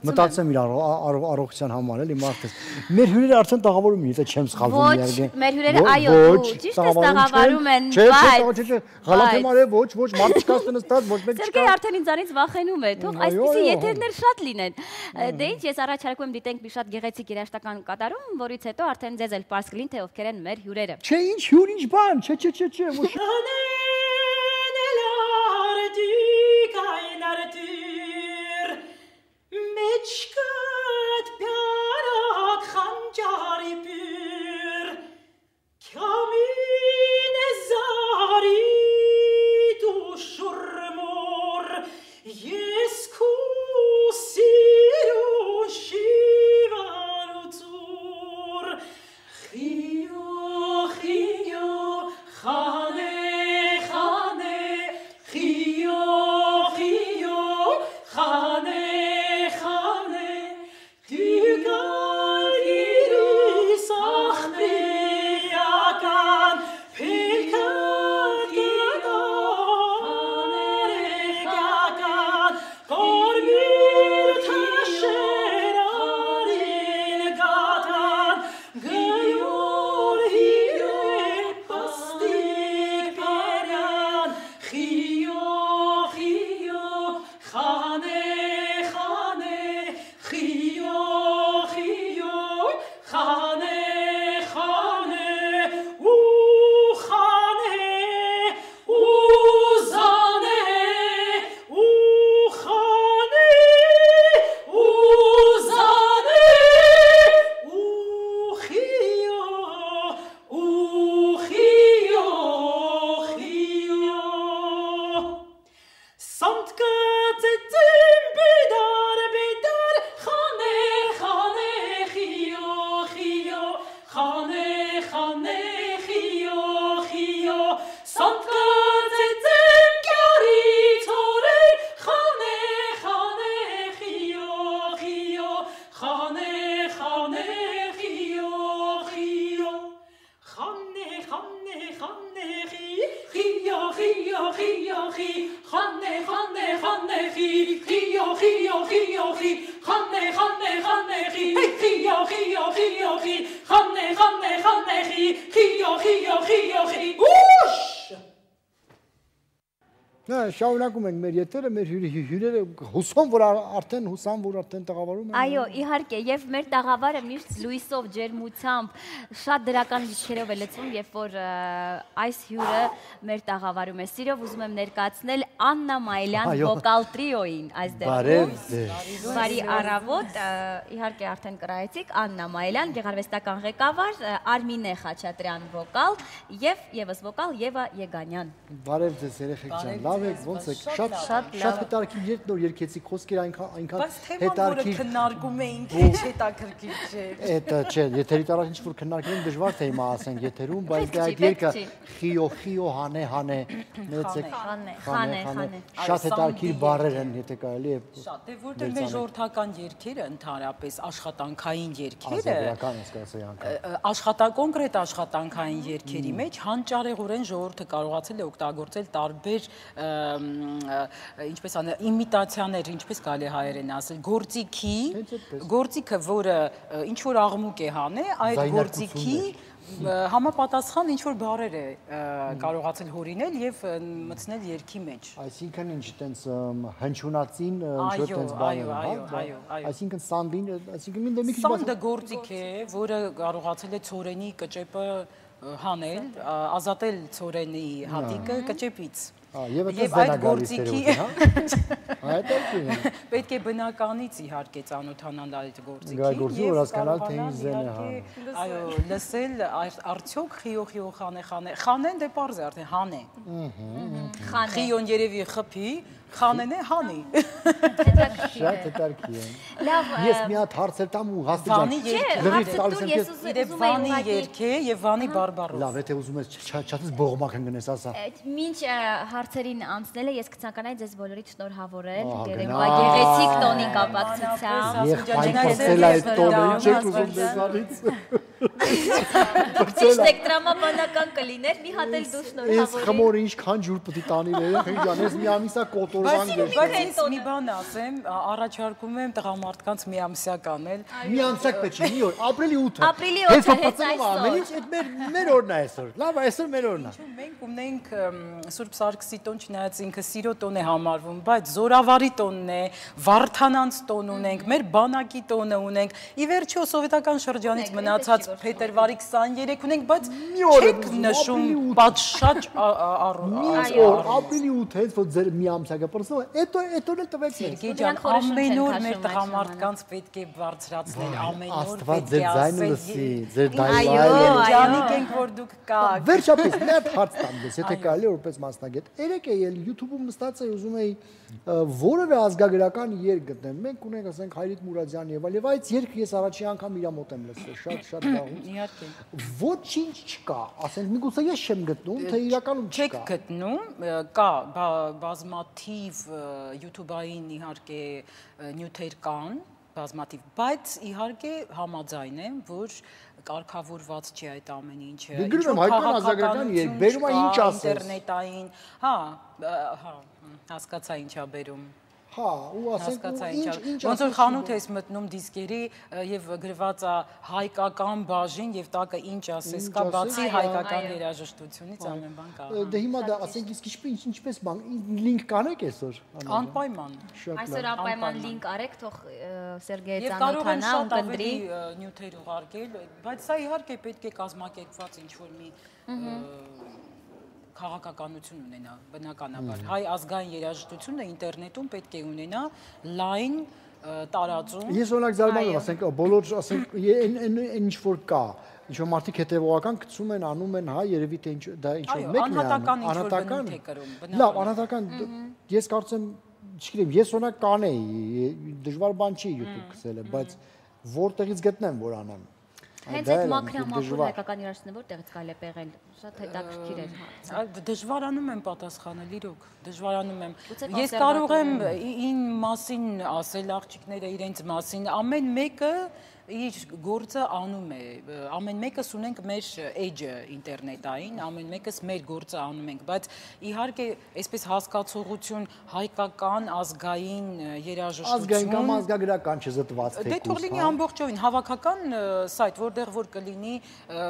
մտածեմ իր առողջության համար, էլի մարդես։ Մեր հյուրերը արդեն տաղավարում են, եթե չեմ սխալվում իհարկե։ Ոչ, մեր հյուրերը այո, ճիշտ է տաղավարում են, բայց չէ, Ղալաթեմ արե, ոչ, մարդ չկա նստած, ոչ մեկ չկա։ Սերգեյ արդեն ինձանից վախենում է, թող այսպիսի եթերներ շատ լինեն։ Դե ինչ, ես առաջարկում եմ դիտենք մի շատ գեղեցիկ երաժշտական կատարում, որից հետո արդեն ձեզ էլ պարզ կլինի, թե ովքեր են մեր հյուրերը։ Չէ, ինչ հյուր, ինչ բան, չէ, ոչ։ Meçkat pyarak xanjari pür Kamine zari tu şurmur Yesku siru shivaru tur Khiyo, khiyo, khane, khane Khiyo, khiyo, khane Շարունակում ենք մեր եթերը, մեր հյուրերը հուսամ, որ արդեն տաղավարում են։ Այո, իհարկե, եւ մեր տաղավարը միշտ լույսով, ջերմությամբ, շատ դրական լիցքերով է լցվում, երբ որ այս հյուրը մեր տաղավարում է։ Սիրով ուզում եմ ներկայացնել Աննա Մայլյան վոկալ տրիոին այս դեպքում։ Բարի առավոտ, իհարկե արդեն կրայեցիք Աննա Մայլյան, գեղարվեստական ղեկավար, Արմինե Խաչատրյան վոկալ եւ եւս վոկալ Եվա Եգանյան։ Բարև ձեզ երեխեք ջան, լավ եք, ոնց եք, շատ հետաքրքիր երբ նոր երգեցիք, խոսքերը այնքան հետաքրքիր քննարկում էինք, ինչ հետաքրքիր չէ։ Էդա չէ, եթերից առաջ ինչ որ քննարկել դժվար թե հիմա ասենք եթերում, բայց այդ երգը խիո հանե նեցեք խանե շատ հետաքրքիր բառեր են, եթե կարելի է։ Շատ է, որտեղ մեր ժողովրդական երգերը ընդհանրապես աշխատանքային երգերը, կոնկրետ աշխատանքային երգերի մեջ հանճարեղորեն ժողովուրդը կարողացել է օգտագործել տարբեր ինչպես իմիտացիաներ, ինչպես կարելի հայերեն ասել, գործիքը, որը ինչ որ աղմուկ է հանե, այդ գործիքի համապատասխան ինչ որ բառեր է կարողացել հորինել եւ մտցնել երգի մեջ։ Այսինքն ինչ տենց հնչյունածին ինչ որ տենց բառեր, այո։ Այսինքն սանդին, այսինքն մի քիչ սանդը գործիք է, որը կարողացել է ցորենի կճեպը հանել, ազատել ցորենի հատիկը կճեպից։ Եվ այդ գործիքի պետք է բնականից իհարկե ծանոթանալ այդ գործիքին եւ հասկանալ թե ինչ զեն է։ Այո, լսել արդյոք խիո խանեն դե պարզ է արդեն հանե։ Խիոն երևի խփի, խանեն է հանի։ Շատ հետաքրքիր է։ Լավ։ Ես մի հատ հարց եմ տամ ու հաստիճան։ Լրիվ տալիս եմ ես իդեպ Վանի երգ է եւ Վանի բարբարով։ Լավ, եթե ուզում ես չաթից բողոմակ ընկնես, ասա։ Մինչ հարցերին անցնելը ես կցանկանայի ձեզ բոլորիդ շնորհավորել երեկվա գեղեցիկ տոնի կապակցությամբ։ Եղբայր խոսել այդ տոնը, ինչ եք ուզում դեզանից։ Ճիշտ եք, տրամաբանական կլիներ, մի հատ էլ դու շնորհավորի։ Ես խմորը ինչքան ջուր պետք է տանի երեխեք ջան, ես մի ամիսա կոտորվան գեշ։ Բայց մի բան ասեմ, առաջարկում եմ տղամարդկանց միամսյա կանել։ Միամսյակ պետք չի, մի օր, ապրիլի 8-ը։ Ապրիլի 8-ը հենց այսօր։ Այդ մեր օրն է այսօր։ Լավ, այսօր մեր օրն է։ Մենք ունենք Սուրբ Սարգսի տոն, չնայած ինքը սիրո տոն է համարվում, բայց Զորավարի տոնն է, Վարդանանց տոն ունենք, մեր բանակի տոնը ունենք։ Ի վերջո սովետական շրջանից մնացած փետրվարի 23 ունենք, բայց չեք նշում պատշաճ ապրիլի 8 հենց որ ձեր միամսյակը պրսնով է, այդ օրն էլ տվեք մեզ։ Սերգեյ ջան, ամեն օր մեր տղամարդկանց պետք է բարձրացնել, ամեն օր պետք է ասել։ Ձեր այո, ջանիկ ենք որ դուք կաք։ Վերջապես մի հատ հարց տամ ես, եթե կարելի է որպես մասնագետ։ Երեք է YouTube-ում նստած էի ուզում էի որևէ ազգագրական երգ գտնեմ։ Մենք ունենք, ասենք, Հայրիկ Մուրադյան եւ այլ, եւ այդ երգը ես առաջի անգամ իր մոտ եմ լսել, շատ վաղուց։ Իհարկե։ Ոչինչ չկա, ասենք, միգուցե ես չեմ գտնում, թե իրականում չկա։ Չեք գտնում, կա բազմաթիվ YouTube-ային իհարկե նյութեր կան, բազմաթիվ, բայց իհարկե համաձայն եմ, որ կարգավորված չի այդ ամեն ինչը։ Գրում եմ հայկական ազգագրական երգ, բերում է ինչ ասես։ Ինտերնետային, հա, հասկացա ինչա բերում։ Հա, ու ասենք ինչ ոնց որ խանութ ես մտնում դիսկերի եւ գրված է հայկական բաժին եւ տակը ինչ ասես կա բացի հայկական երաժշտությունից ամեն բան կա։ Դե հիմա դա ասենք իսկ ինչպես բան լինք կանեք այսօր։ Անպայման։ Այսօր անպայման լինք արեք, թող Սերգեյը ծանոթանա ու կնդրի նյութեր ուղարկել, բայց սա իհարկե պետք է կազմակերպված ինչ որ մի քաղաքականություն ունենա, բնականաբար։ Հայ ազգային երաժշտությունը ինտերնետում պետք է ունենա լայն տարածում։ Ես օրինակ զարմանում եմ, ասենք, բոլոր, ասենք, ինչ որ կա, ինչ որ մարդիկ հետևողական գցում են, անում են, հա, երևի թե դա ինչ որ մեկն է անում, անհատական։ Լավ, անհատական, ես կարծեմ, չգիտեմ, ես օրինակ կանեի, դժվար բան չի YouTube գցելը, բայց որտեղից գտնեմ, որ անեմ։ Հենց այդ մաքրամաքուր հայկական երաժշտությունը որտեղից կարելի է պեղել, շատ հետաքրքիր է հարցը։ Դժվարանում եմ պատասխանել, իրոք, դժվարանում եմ։ Ես կարող եմ ին մասին ասել աղջիկները իրենց մասին, ամեն մեկը իր գործը անում է, ամեն մեկս ունենք մեր էջը ինտերնետային, ամեն մեկս մեր գործը անում ենք, բայց իհարկե այսպես հասկացողություն հայկական ազգային երաժշտություն, ազգային կամ ազգագրական չզտված թեկուզ, դե թող լինի ամբողջովին հավաքական սայթ, որտեղ որ կլինի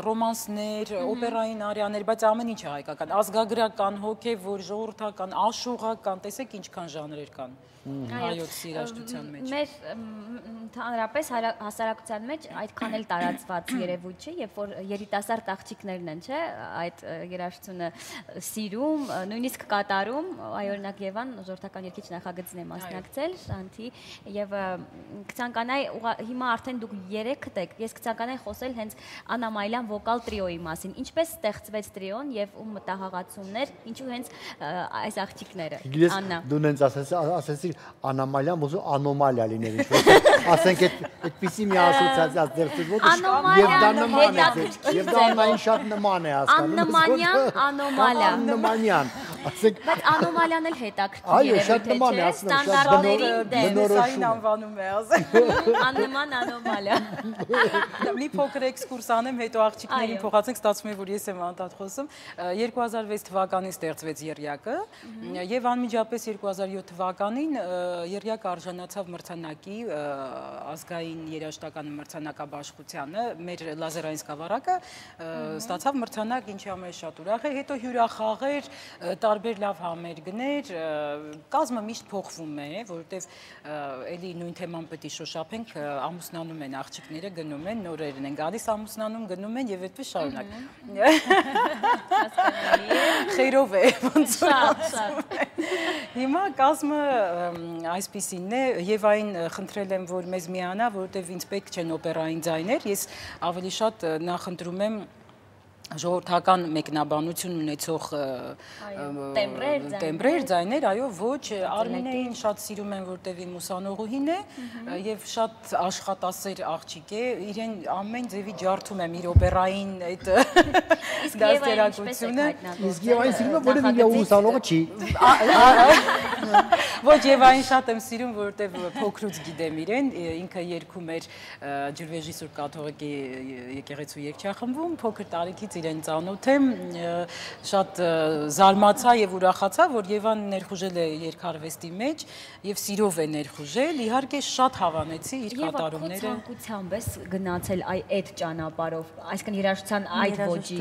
ռոմանսներ, օպերային արիաներ, բայց ամեն ինչը հայկական, ազգագրական, հոգևոր, ժողովրդական, աշուղական, տեսեք ինչքան ժանրեր կան հայոց երաժշտության մեջ։ Մեր ընդհանրապես հասարակության մեջ այդքան էլ տարածված երևույթ չէ, երբ որ երիտասարդ աղջիկներն են, չէ, այդ երաժշտությունը սիրում, նույնիսկ կատարում, այ օրինակ Եվան ժողովրդական երգիչ նախագծին է մասնակցել, Շանթի, եւ կցանկանայի հիմա արդեն դուք 3-դ եք, ես կցանկանայի խոսել հենց Աննա Մայլյան վոկալ տրիոյի մասին, ինչպես ստեղծվեց տրիոն եւ ում մտահղացումներ, ինչու հենց այս աղջիկները, Աննա։ Դու նենց ասեցի Անոմալիան ոզու անոմալիա լիներ ինչ-որ, ասենք այդպիսի մի ասոցիացիա ձերքից և դա նման է, և դա անային շատ նման է ասկանում։ Աննմանյան, անոմալիա։ Աննմանյան, ասենք։ Բայց անոմալիան էլ հետաքրքիր երևույթ է, ստանդարտներին դեմ։ Սային անվանում է ասել։ Աննման անոմալիա։ Մի փոքր էքսկուրս անեմ, հետո աղջիկներին փոխացենք, ստացվում է, որ ես եմ անդադ խոսում։ 2006 թվականին ստեղծվեց եռյակը և անմիջապես 2007 թվականին եռյակը արժանացավ մրցանակի ազգային երաժշտական մրցանակաբաշխությանը, մեր լազերային սկավառակը ստացավ մրցանակ, ինչի համար շատ ուրախ է, հետո հյուրախաղեր, տարբեր լավ համերգներ, կազմը միշտ փոխվում է, որովհետև էլի նույն թեման պետք է շոշափենք, ամուսնանում են աղջիկները, գնում են, նորերն են գալիս, ամուսնանում, գնում են եւ այդպես շարունակ։ Խերով է, ոնց որ ասում են։ Հիմա կազմը այսպիսին է, եւ այն խնդրել եմ, որ մեզ միանա, որովհետեւ ինձ պետք չեն օպերային ձայներ, ես ավելի շատ նախընտրում եմ ժողովրդական մեկնաբանություն ունեցող տեմբրեր, ձայներ, այո, ոչ, Արմինեին շատ սիրում են, որտեվ իմ ուսանողուհին է եւ շատ աշխատասեր աղջիկ է, իրեն ամեն ձևի ջարդում եմ իր օպերային այդ դաստիարակությունը։ Իսկ Եվային սիրում է, որովհետև իր ուսանողը չի։ Ոչ, եւ այն շատ եմ սիրում, որովհետեւ փոքրուց գիտեմ իրեն, ինքը երգում էր ջրվեժի Սուրբ կաթողիկի եկեղեցու երգչախմբում, փոքր տարիքից իրեն ծանոթ եմ, շատ զարմացա եւ ուրախացա, որ Եվան ներխուժել է երգարվեստի մեջ եւ սիրով է ներխուժել, իհարկե շատ հավանեցի իր կատարումները։ Եվ ցանկությամբ ես գնացել այդ ճանապարհով, այսինքն երաժշտության այդ ոճի,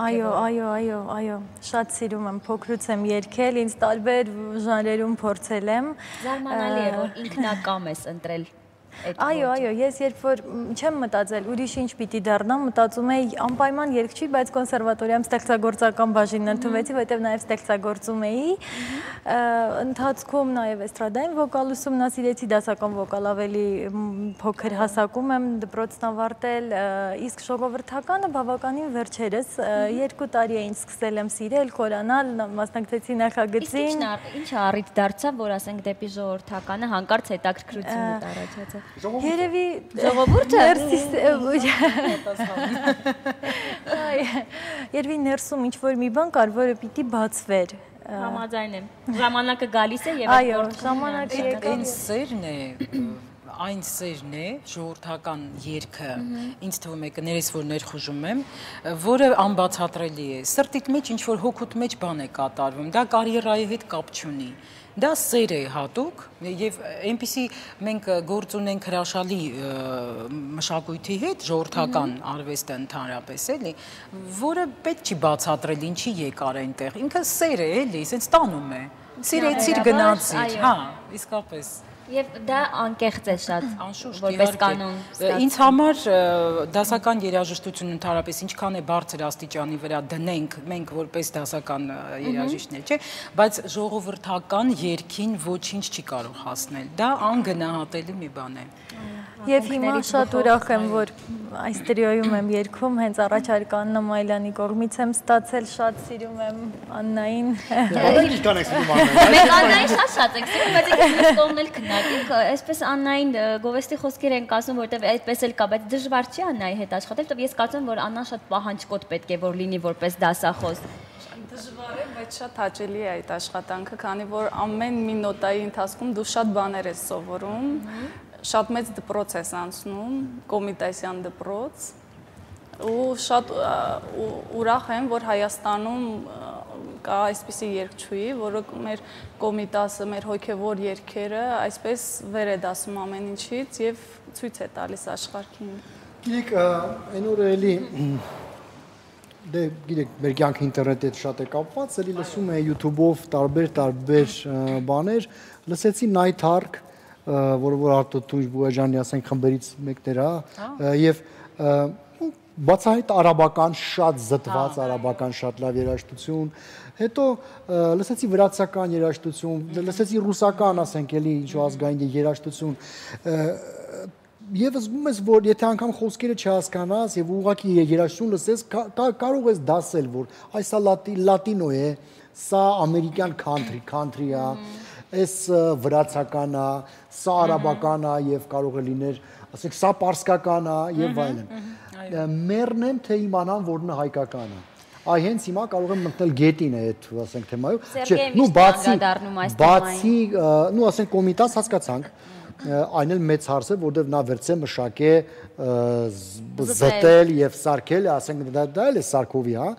Այո, շատ սիրում եմ, փոքրուց եմ երգել, ինձ տարբեր ժանրերում փորձել եմ։ Զարմանալի է, որ ինքնակամ ես ընտրել։ Այո, ես երբ որ չեմ մտածել ուրիշ ինչ պիտի դառնամ, մտածում էի անպայման երգչի, բայց կոնսերվատորիայում ստեղծագործական բաժինն ընդունվեցի, որտեղ նաև ստեղծագործում էի։ Ընթացքում նաև էստրադային վոկալ ուսումնասիրեցի, դասական վոկալ ավելի փոքր հասակում եմ դպրոցն ավարտել, իսկ ժողովրդականը բավականին վերջերս 2 տարի էին սկսել եմ սիրել, խորանալ, մասնակցեցի նախագծին։ Ինչ առիթ դարձավ, որ ասենք դեպի ժողովրդականը հանկարծ հետաքրքրությունը տարածեց։ Երևի ժողովուրդը Երևի ներսում ինչ-որ մի բան կար, որը պիտի բացվեր։ Համաձայն եմ։ Ժամանակը գալիս է եւ այո, ժամանակը եկավ։ Այն սերն է, ժողովրդական երգը, ինձ թվում է կներես, որ ներխուժում եմ, որը անբացատրելի է։ Սրտիդ մեջ ինչ-որ հոգուտ մեջ բան է կատարվում, դա կարիերայի հետ կապ չունի։ Դա սեր է հատուկ եւ այնպիսի մենք գործ ունենք հրաշալի մշակույթի հետ, ժողովրդական արվեստը ընդհանրապես էլի, որը պետք չի բացատրել ինչի եկար այնտեղ։ Ինքը սեր է էլի, ասենց տանում է։ Սիրեցիր գնացիր, հա, իսկապես։ Եւ դա անկեղծ է շատ, որպես կանոն։ Ինձ համար դասական երաժշտություն ընդհանրապես ինչքան է բարձր աստիճանի վրա դնենք մենք որպես դասական երաժիշտներ, չէ, բայց ժողովրդական երգին ոչինչ չի կարող հասնել։ Դա անգնահատելի մի բան է։ Եվ հիմա շատ ուրախ եմ, որ այս տրիոյում եմ երգում, հենց առաջարկ Աննա Մայլյանի կողմից եմ ստացել, շատ սիրում եմ Աննային։ Ինչքան եք սիրում Աննային։ Մենք Աննային շատ ենք սիրում, բայց մենք կողմն էլ քննարկենք, այսպես Աննային գովեստի խոսքեր ենք ասում, որտեվ այդպես էլ կա, բայց դժվար չի Աննայի հետ աշխատել, որտեվ ես կարծում եմ, որ Աննան շատ պահանջկոտ պետք է որ լինի որպես դասախոս։ Դժվար է, բայց շատ հաճելի է այդ աշխատանքը, քանի որ ամեն մի նոտայի ընթացքում դու շատ բաներ ես սովորում, շատ մեծ դպրոց ես անցնում, Կոմիտասյան դպրոց, ու շատ ուրախ եմ, որ Հայաստանում կա այսպիսի երգչուհի, որը մեր Կոմիտասը, մեր հոգևոր երգերը այսպես վեր է դասում ամեն ինչից եւ ցույց է տալիս աշխարհին։ Գիտեք, այն օրը էլի դե գիտեք, մեր կյանքը ինտերնետի հետ շատ է կապված, էլի լսում է YouTube-ով տարբեր բաներ, լսեցի Night Ark, որը որ Արտո Տունջ Բուեջանի ասենք խմբերից մեկն էր, եւ բացահայտ արաբական շատ զտված արաբական շատ լավ երաժշտություն, հետո լսեցի վրացական երաժշտություն, լսեցի ռուսական, ասենք էլի ինչ ազգային երաժշտություն, եւ զգում ես, որ եթե անգամ խոսքերը չհասկանաս եւ ուղղակի երաժշտություն լսես, կարող ես դասել, որ այսա լատինո է, սա ամերիկյան country է, այս վրացական է, սա արաբական է եւ կարող է լիներ, ասենք սա պարսկական է եւ այլն։ Մեռնեմ թե իմանամ, որ նա հայկական է։ Այ հենց հիմա կարող եմ մտնել գետին է այդ, ասենք թեմայով։ Նու բացի, նու ասենք Կոմիտաս հասկացանք, այն էլ մեծ հարց է, որտեղ նա վերցե մշակե զտել եւ սարքել, ասենք դա էլ է Սարքովի, հա։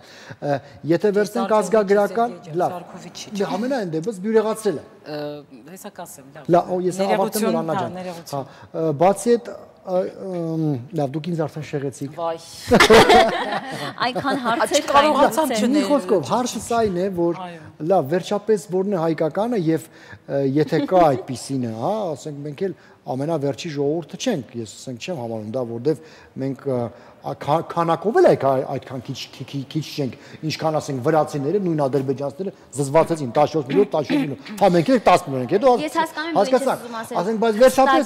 Եթե վերցնենք ազգագրական, լավ։ Ամենայն դեպս բյուրեղացրել է։ Հեսա կասեմ, լավ։ Լավ, ես ավարտեմ որ Աննա ջան։ Հա, բացի այդ լավ, դուք ինձ արդեն շեղեցիք։ Վայ։ Այնքան հարցեր կարողացամ չնել։ Մի խոսքով, հարցը սա այն է, որ լավ, վերջապես որն է հայկականը եւ եթե կա այդպիսինը, հա, ասենք մենք էլ ամենավերջի ժողովուրդը չենք, ես ասենք չեմ համարում դա, որտեվ մենք քանակով էլ այդքան քիչ չենք, ինչքան ասենք վրացիները, նույն ադրբեջանցիները զզվացեցին 14 միլիոն, հա մենք էլ 10 միլիոն ենք, հետո ասենք բայց վերջապես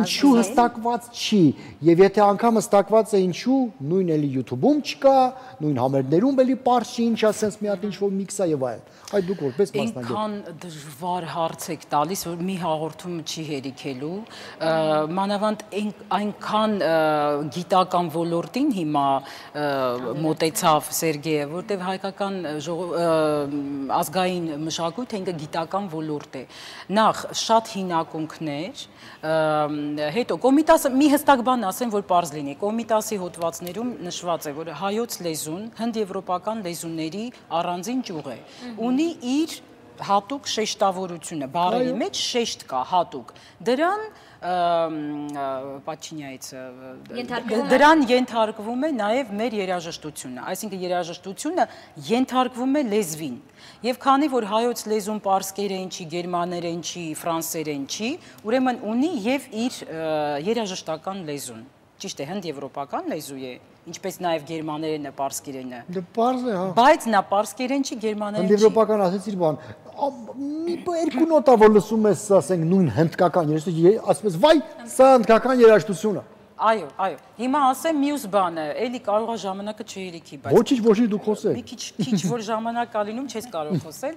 ինչու հստակված չի, եւ եթե անգամ հստակված է ինչու, նույն էլի YouTube-ում չկա, նույն համերգներում էլի պարզ չի, ինչ ասենց մի հատ ինչ-որ միքս է եւ այլն։ Այդ դուք որպես մասնագետ։ Այնքան դժվար հարց եք տալիս, որ մի հաղորդում չի հերիքել շարունակելու, մանավանդ այնքան գիտական ոլորտին հիմա մոտեցավ Սերգեյը, որտեղ հայկական ազգային մշակույթը ինքը գիտական ոլորտ է։ Նախ շատ հին հետո Կոմիտասը մի հստակ բան ասեմ, որ պարզ լինի, Կոմիտասի հոդվածներում նշված է, որ հայոց լեզուն հնդեվրոպական լեզուների առանձին ճյուղ է, ունի իր հատուկ շեշտավորությունը, բառերի մեջ շեշտ կա հատուկ, դրան ենթարկվում է նաև մեր երաժշտությունը, այսինքն երաժշտությունը ենթարկվում է լեզվին, և քանի որ հայոց լեզուն պարսկերեն չի, գերմաներեն չի, ֆրանսերեն չի, ուրեմն ունի և իր երաժշտական լեզուն, ճիշտ է, հնդեվրոպական լեզու է, ինչպես նաև գերմաներենը, պարսկերենը, բայց նա պարսկերեն չի, գերմաներեն չի։ Հնդեվրոպական ասեցիր բան, երկու նոտա, որ լսում ես, ասենք, նույն հնդկական երաժշտություն, ասպես, վայ, սա հնդկական երաժշտությունը։ Այո, հիմա ասեմ մյուս բանը, էլի կարող է ժամանակը չհերիքի, բայց… Ոչինչ դու խոսել։ Մի քիչ որ ժամանակ կա լինում, չես կարող խոսել,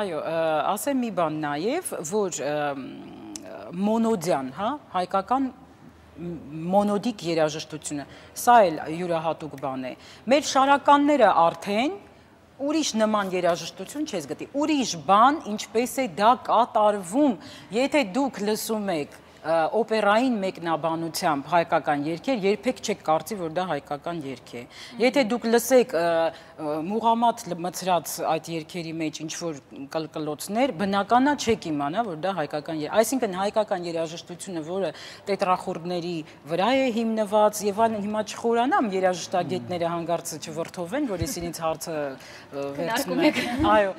այո, ասեմ մի բան նաև, որ մոնոդյան, հայկական մոնոդիկ երաժշտությունը, սա էլ յուրահատուկ բան է, մեր շարականները արդեն ուրիշ նման երաժշտություն չես գտի, ուրիշ բան ինչպես է դա կատարվում, եթե դուք լսում եք օպերային մեկնաբանությամբ հայկական երգեր, երբեք չեք կարծի, որ դա հայկական երգ է։ Եթե դուք լսեք Մուղամադ մցրած այդ երգերի մեջ ինչ-որ կլկլոցներ, բնականա չեք իմանա, որ դա հայկական երգ է։ Այսինքն հայկական երաժշտությունը, որը տետրախորդների վրա է հիմնված, եւ այլն, հիմա չխորանամ երաժշտագետները հանգարցը չվրթովեն, որ ես ինձ հարցը վերցնում եմ։ Այո,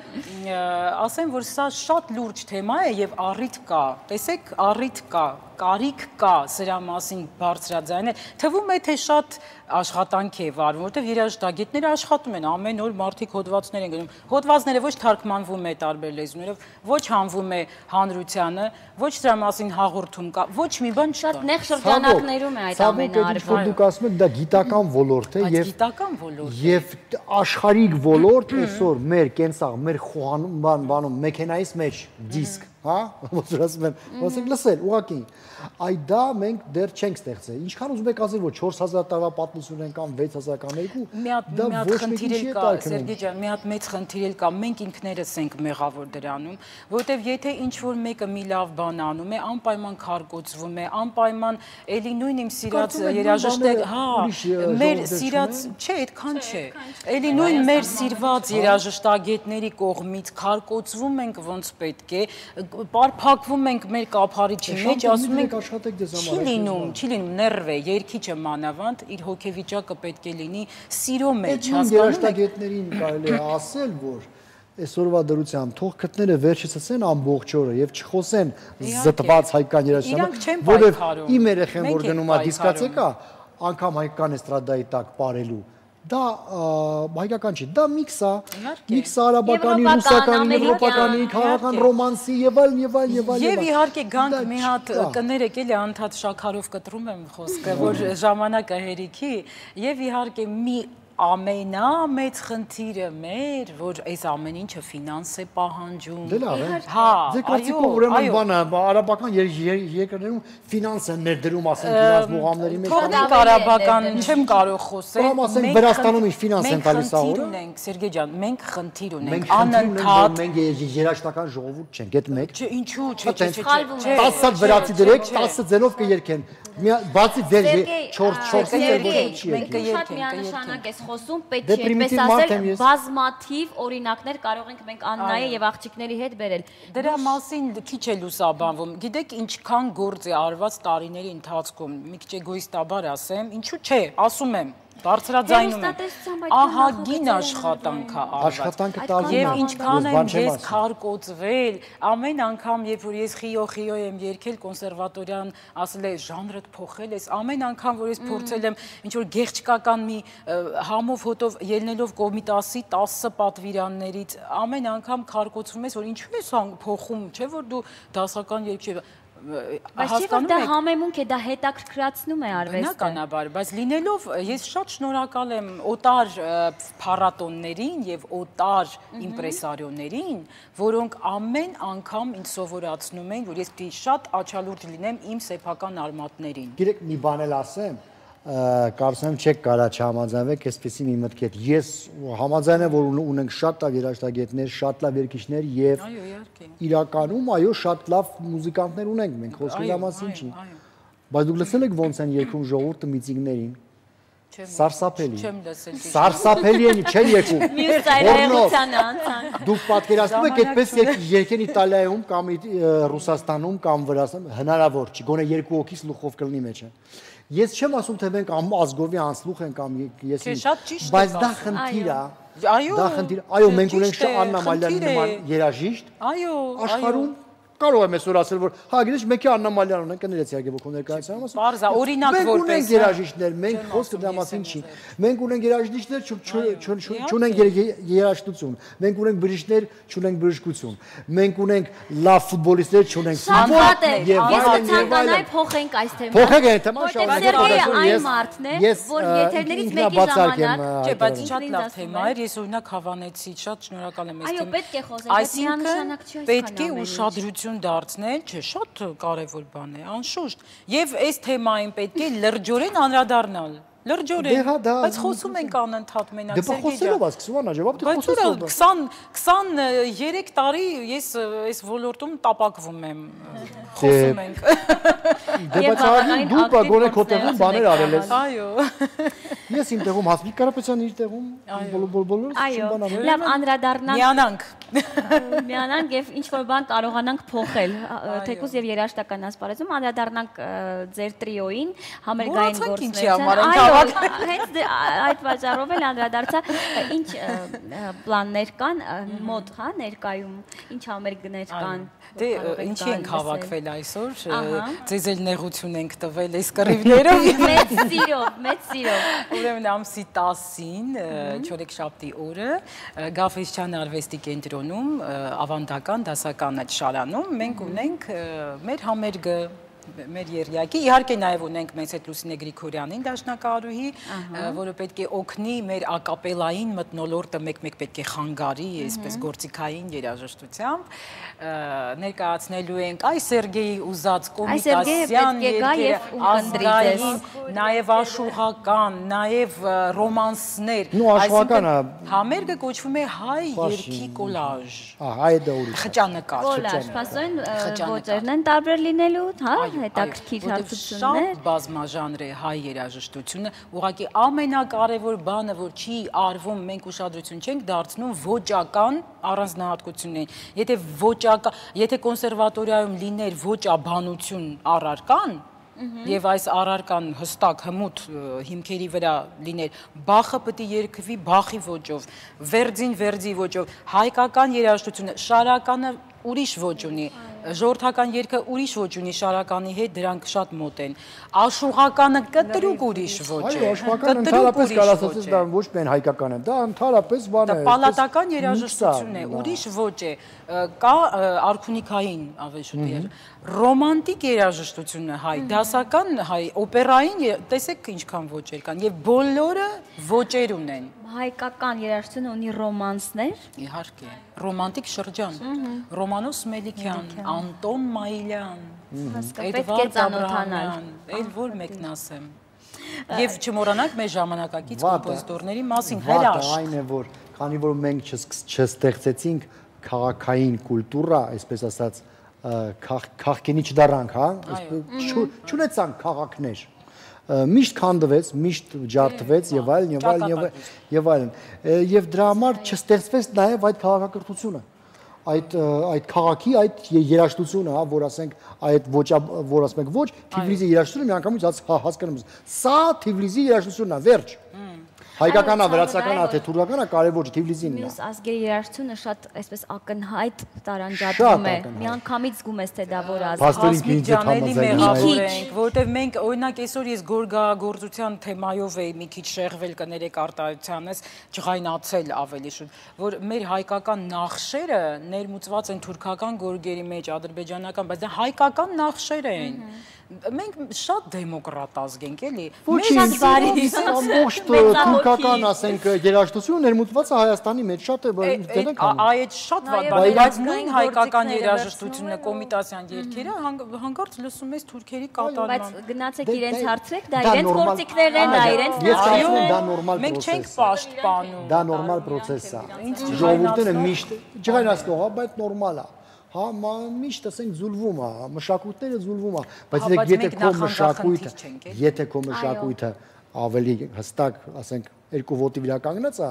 ասեմ, որ սա շատ լուրջ թեմա է եւ առիթ կա։ Տեսեք, առիթ կա, կարիք կա սրա մասին բարձրաձայնել, թվում է թե շատ աշխատանք է վարվում, որտեղ երաժշտագետները աշխատում են, ամեն օր մարդիկ հոդվածներ են գնում, հոդվածները ոչ թարգմանվում է տարբեր լեզուներով, ոչ հանվում է հանրությանը, ոչ դրա մասին հաղորդում կա, ոչ մի բան շատ նեղ շրջանակներում է այդ ամենը արվում։ Դուք ասում եք դա գիտական ոլորտ է եւ աշխարհիկ ոլորտ այսօր մեր կենսաղ, մեր բանում մեքենայից մեջ դիսկ, հա, ոնց ասում են, ոնց եք լսել, ուղղակի այդ դա մենք դեռ չենք ստեղծել։ Ինչքան ուզում եք ասել, որ 4000 տարվա պատմություն են կամ 6000 կամ 2, դա ոչ մեկի չի տալքնում։ Սերգեյ ջան, մի հատ մեծ խնդիր կա, մենք ինքներս ենք մեղավոր դրանում, որովհետև եթե ինչ-որ մեկը մի լավ բան անում է, անպայման քարկոծվում է, անպայման էլի նույն իմ սիրած երաժշտակ, հա, մեր սիրած, չէ, այդքան չէ։ Էլի նույն մեր սիրված երաժշտագետների կողմից քարկոծվում ենք ոնց պետք է, պարփակվում ենք մեր կափարիչի մեջ, ասում ենք չի լինում, ներվ է, երգիչը մանավանդ իր հոգեվիճակը պետք է լինի սիրո մեջ, հասկանում եք։ Երաժշտագետներին կարելի է ասել, որ այսօրվա դրությամբ թող քթները վերջացնեն ամբողջ օրը եւ չխոսեն զտված հայկական երաժշտությամբ, որովհետեւ իմ երեխեն որ գնում է դիսկոտեկա, անգամ հայկական էստրադայի տակ ապարելու դա հայկական չի, դա միքս է արաբականի, ռուսականի, եվրոպականի, քաղաքական ռոմանսի եւ այլն եւ այլն եւ այլն։ Եվ իհարկե գանք մի հատ կներեք էլի անդադ շաքարով կտրում եմ խոսքը, որ ժամանակը հերիքի եւ իհարկե մի ամենամեծ խնդիրը մեր, որ այս ամեն ինչը ֆինանս է պահանջում։ Դե լավ է։ Ձեր կարծիքով ուրեմն բանը արաբական երկրներում ֆինանս են ներդրում, ասենք իրաց մուղամների մեջ։ Թողնենք արաբական, չեմ կարող խոսել։ Կամ ասենք Վրաստանում ինչ ֆինանս են տալիս ահա։ Մենք խնդիր ունենք, Սերգեյ ջան, մենք խնդիր ունենք, անընդհատ։ Մենք երաժշտական ժողովուրդ չենք, այդ մեկ։ Չէ, ինչու՞, չէ։ 10 հատ վրացի դրեք, 10 ձենով կերքեն։ Բացի ձեր 4-4-ից էլ ոչ չի եկել։ Շատ միանշանակ ես խոսում, պետք չէ այդպես ասել, բազմաթիվ օրինակներ կարող ենք մենք Աննայի եւ աղջիկների հետ բերել։ Դրա մասին քիչ է լուսաբանվում։ Գիտեք ինչքան գործ է արված տարիների ընթացքում, մի քիչ էգոիստաբար ասեմ, ինչու՞ չէ, ասում եմ բարձրաձայնում եմ, ահագին աշխատանք է արված, և ինչքան եմ ես քարկոծվել, ամեն անգամ, երբ որ ես խիո եմ երգել կոնսերվատորյան, ասել է ժանրդ փոխել ես, ամեն անգամ, որ ես փորձել եմ ինչ-որ գեղչկական մի համով հոտով ելնելով Կոմիտասի 10 պատվիրաններից, ամեն անգամ քարկոծվում ես, որ ինչու ես փոխում, չէ որ դու դասական երգ չի, Բայց դա համեմունք է, դա հետաքրքրացնում է արվեստը։ Բնականաբար, բայց լինելով ես շատ շնորհակալ եմ օտար փառատոններին եւ օտար իմպրեսարիոներին, որոնք ամեն անգամ ինձ սովորացնում են, որ ես պիտի շատ աչալուրջ լինեմ իմ սեփական արմատներին։ Գիտեք, մի բան էլ ասեմ, կարծում եմ չեք կարա չհամաձայնվեք, այսպեսի մի մտք է։ Ես համաձայն եմ, որ ունենք շատ լավ երաժշտագետներ, շատ լավ երգիչներ եւ իրականում այո, շատ լավ մուզիկանտներ ունենք մենք, խոսքի մասին չի։ Բայց դուք լսել եք ոնց են երգում ժողովուրդը միծինգներին։ Սարսափելի։ Սարսափելի են, չեն երգում։ Մյուս ծայրահեղությանը անցան։ Դուք պատկերացնում եք այդպես երգեն Իտալիայում կամ Ռուսաստանում կամ Վրաստանում, հնարավոր չի, գոնե երկու հոգի սլուխով կլինի մեջը։ Ես չեմ ասում թե մենք ազգովի անսլուխ ենք կամ ես բայց դա խնդիր է։ Դա խնդիր։ Այո, մենք ունենք Աննա Մալյանի նման երաժիշտ։ Այո, աշխարհում կարող եմ այսօր ասել, որ հա գիտես մեկի Աննա Մալյան ունենք, կներեց իհարկե որ ներկայացնում ասում։ Պարզա, օրինակ որպես։ Մենք ունենք երաժիշտներ, մենք խոսքը դրա մասին չի։ Մենք ունենք երաժիշտներ, չունենք երաժշտություն։ Մենք ունենք բժիշկներ, չունենք բժշկություն։ Մենք ունենք լավ ֆուտբոլիստներ, չունենք ֆուտբոլ։ Ես ցանկանայի փոխենք այս թեման։ Փոխենք այդ թեման, շարունակենք։ Այն մարդն է, որ եթերներից մեկի ժամանակ, չէ, բայց շատ լավ թեմա էր, ես օրինակ հավանեցի, շատ շնորհակալ եմ այս թեման։ Այո, պետք է խոսել, բայց միանշանակ չի այս պետք է ուշադրություն դարձնել, չէ, շատ կարևոր բան է, անշուշտ։ Եվ այս թեմային պետք է լրջորեն անդրադառնալ։ Լրջորեն, բայց խոսում ենք անընդհատ մենակ Սերգեյ ջան։ Դե խոսելով ես, Սուվանա ջան, բայց 23 տարի ես այս ոլորտում տապակվում եմ, խոսում ենք։ Դե բայց դու գոնե քո տեղում բաներ արել ես։ Այո։ Ես իմ տեղում Հասմիկ Կարապետյանը իր տեղում բոլորս այո, լավ անդրադառնանք։ Միանանք եւ ինչ որ բան կարողանանք փոխել, թեկուզ եւ երաժշտական ասպարեզում անդրադառնանք ձեր տրիոյին, համերգային գործունեության։ Հենց այդ պատճառով էլ անդրադարձա, ինչ պլաններ կան մոտ, հա, ներկայում, ինչ համերգներ կան։ Դե ինչի ենք հավաքվել այսօր, ձեզ էլ նեղություն ենք տվել այս կռիվներով։ Մեծ սիրով։ Ուրեմն ամսի 10-ին, չորեքշաբթի օրը, Գաֆէսչյան արվեստի կենտրոնում, ավանդական դասական այդ շարանում մենք ունենք մեր համերգը, մեր երյակի, իհարկե նաև ունենք մեզ հետ Լուսինե Գրիգորյանին դաշնակահարուհի, որը պետք է օգնի մեր ակապելային մթնոլորտը մեկ-մեկ պետք է խանգարի, այսպես գործիքային երաժշտությամբ, ներկայացնելու ենք այ Սերգեյի ուզած կոմիտասյան երգերը, ազգային, նաև աշուղական, նաև ռոմանսներ, այսինքն համերգը կոչվում է հայ երգի կոլաժ, խճանկար, փաստորեն ոճերն են տարբեր լինելու, հա, հետաքրքիր հարցություններ։ Շատ բազմաժանր է հայ երաժշտությունը, ուղղակի ամենակարևոր բանը, որ չի արվում, մենք ուշադրություն չենք դարձնում ոճական առանձնահատկություններին։ Եթե կոնսերվատորիայում լիներ ոճաբանություն առարկան, եւ այս առարկան հստակ հմուտ հիմքերի վրա լիներ, Բախը պետք է երգվի Բախի ոճով, Վերձին Վերձի ոճով, հայկական երաժշտությունը, շարականը ուրիշ ոճ ունի, ժողովրդական երգը ուրիշ ոճ ունի, շարականի հետ դրանք շատ մոտ են, աշուղականը կտրուկ ուրիշ ոճ է, աշուղականը ընդհանրապես կարասացես դա ոչ միայն հայկական է, դա ընդհանրապես բան է, պալատական երաժշտություն է, ուրիշ ոճ է, կա արքունիքային ավելի շուտ ռոմանտիկ երաժշտությունը հայ, դասական հայ, օպերային, տեսեք ինչքան ոճեր կան, եւ բոլորը ոճեր ունեն։ Հայկական երաժշտությունը ունի ռոմանսներ։ Իհարկե, ռոմանտիկ շրջան, Ռոմանոս Մելիքյան, Անտոն Մայիլյան, Էդվարդ Աբրահամյան, էլ որ մեկն ասեմ։ Եվ չմոռանանք մեր ժամանակակից կոմպոզիտորների մասին հրաշք։ Այն է, որ քանի որ մենք չստեղծեցինք քաղաքային կուլտուրա, այսպես ասած, քաղաքինի չդառանք, հա, չունեցանք քաղաքներ, միշտ քանդվեց, միշտ ջարդվեց եւ այլն, եւ դրա համար չստեղծվեց նաեւ այդ քաղաքակրթությունը, այդ քաղաքի այդ երաժշտությունը, հա, որ ասենք այդ որ ասում ենք ոչ, Թիֆլիսի երաժշտությունը միանգամից հասկանում ես, սա Թիֆլիսի երաժշտությունն է, վերջ։ Հայկականա, վրացականա, թե թուրքականա կարևոր չէ, Թիֆլիսին։ Մյուս ազգերի երաժշտությունը շատ այսպես ակնհայտ տարանջատվում է։ Միանգամից զգում ես թե դա որ որտեվ մենք օրինակ այսօր ես գորգագործության թեմայով էի մի քիչ շեղվել կներեք արտահայտությանս, ջղայնացել ավելի շուտ, որ մեր հայկական նախշերը ներմուծված են թուրքական գորգերի մեջ, ադրբեջանական, բայց դա հայկական նախշեր են։ Մենք շատ դեմոկրատ ազգ ենք, էլի։ Ամբողջ թուրքական, ասենք, երաժշտությունը ներմուծված է Հայաստանի մեջ, շատ է այդ շատ բայց նույն հայկական երաժշտությունը, կոմիտասյան երգերը հանկարծ լսում ես թուրքերի կատարման։ Բայց գնացեք իրենց հարցրեք, դա իրենց գործիքներն են, դա իրենց մենք չենք պաշտպանում։ Դա նորմալ պրոցես է։ Ժողովուրդները միշտ ջղայնացնող է, բայց նորմալ է։ Հա, միշտ ասենք զուլվում է, մշակույթները զուլվում է, բայց եթե քո մշակույթը ավելի հստակ, ասենք, երկու ոտի վրա կանգնած է,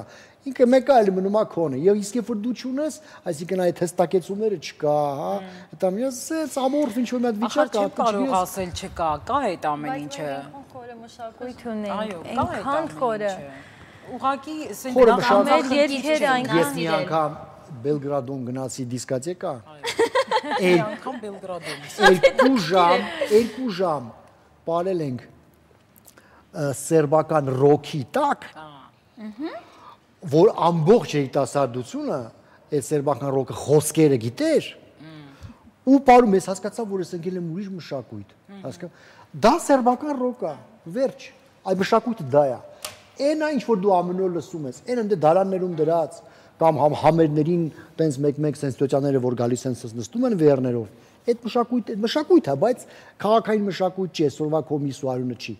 ինքը մեկը այլ մնում է քոնը, եւ իսկ երբ որ դու չունես, այսինքն այդ հստակեցումները չկա, հա, դա մյուս ամորֆ ինչ որ մի հատ վիճակ կա, կարող ասել չկա, կա այդ ամեն ինչը։ Խորը մշակույթ ունենք, այո, կա այդ խորը։ Ուղղակի մեր երկերը այնքան ես մի անգամ Բելգրադում գնացի դիսկոտեկա։ Անգամ Բելգրադում։ 2 ժամ պարել ենք սերբական ռոքի տակ, որ ամբողջ երիտասարդությունը այդ սերբական ռոքը խոսքերը գիտեր, ու պարում ես հասկացա, որ ես ընկել եմ ուրիշ մշակույթ, դա սերբական ռոք է, վերջ, այդ մշակույթը դա է, այն ինչ որ դու ամեն օր լսում ես, այն ընդ դարաններում դրած, կամ համերներին տենց մեկ-մեկ սենսացիաները, որ գալիս են նստում են վեերներով, այդ մշակույթ է, բայց քաղաքային մշակույթ չի, այսօրվա կոմիսու արյունը չի,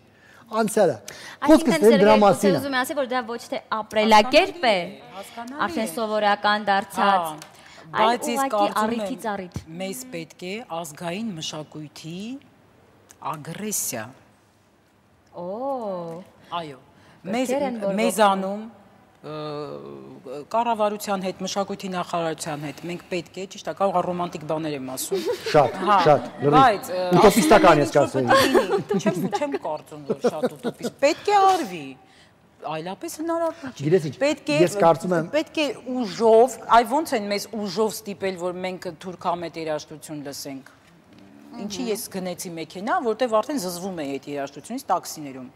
անցյալը, խոսքս դրա մասին է։ Ուզում եմ ասել, որ դա ոչ թե ապրելակերպ է, արդեն սովորական դարձած, բայց ես կարծում եմ մեզ պետք է ազգային մշակույթի ագրեսիա։ Այո, մեզանում կառավարության հետ, մշակույթի նախարարության հետ մենք պետք է, ճիշտ է, կարող է ռոմանտիկ բաներ եմ ասում։ Շատ, բայց ուտոպիստական ես կասեի։ Չեմ կարծում, որ շատ ուտոպիստ։ Պետք է արվի։ Այլապես հնարավոր չի։ Պետք է ուժով, այ ոնց են մեզ ուժով ստիպել, որ մենք թուրքամետ երաժշտություն լսենք։ Ինչի ես գնեցի մեքենա, որտեղ արդեն զզվում էի այդ երաժշտությունից տաքսիներում։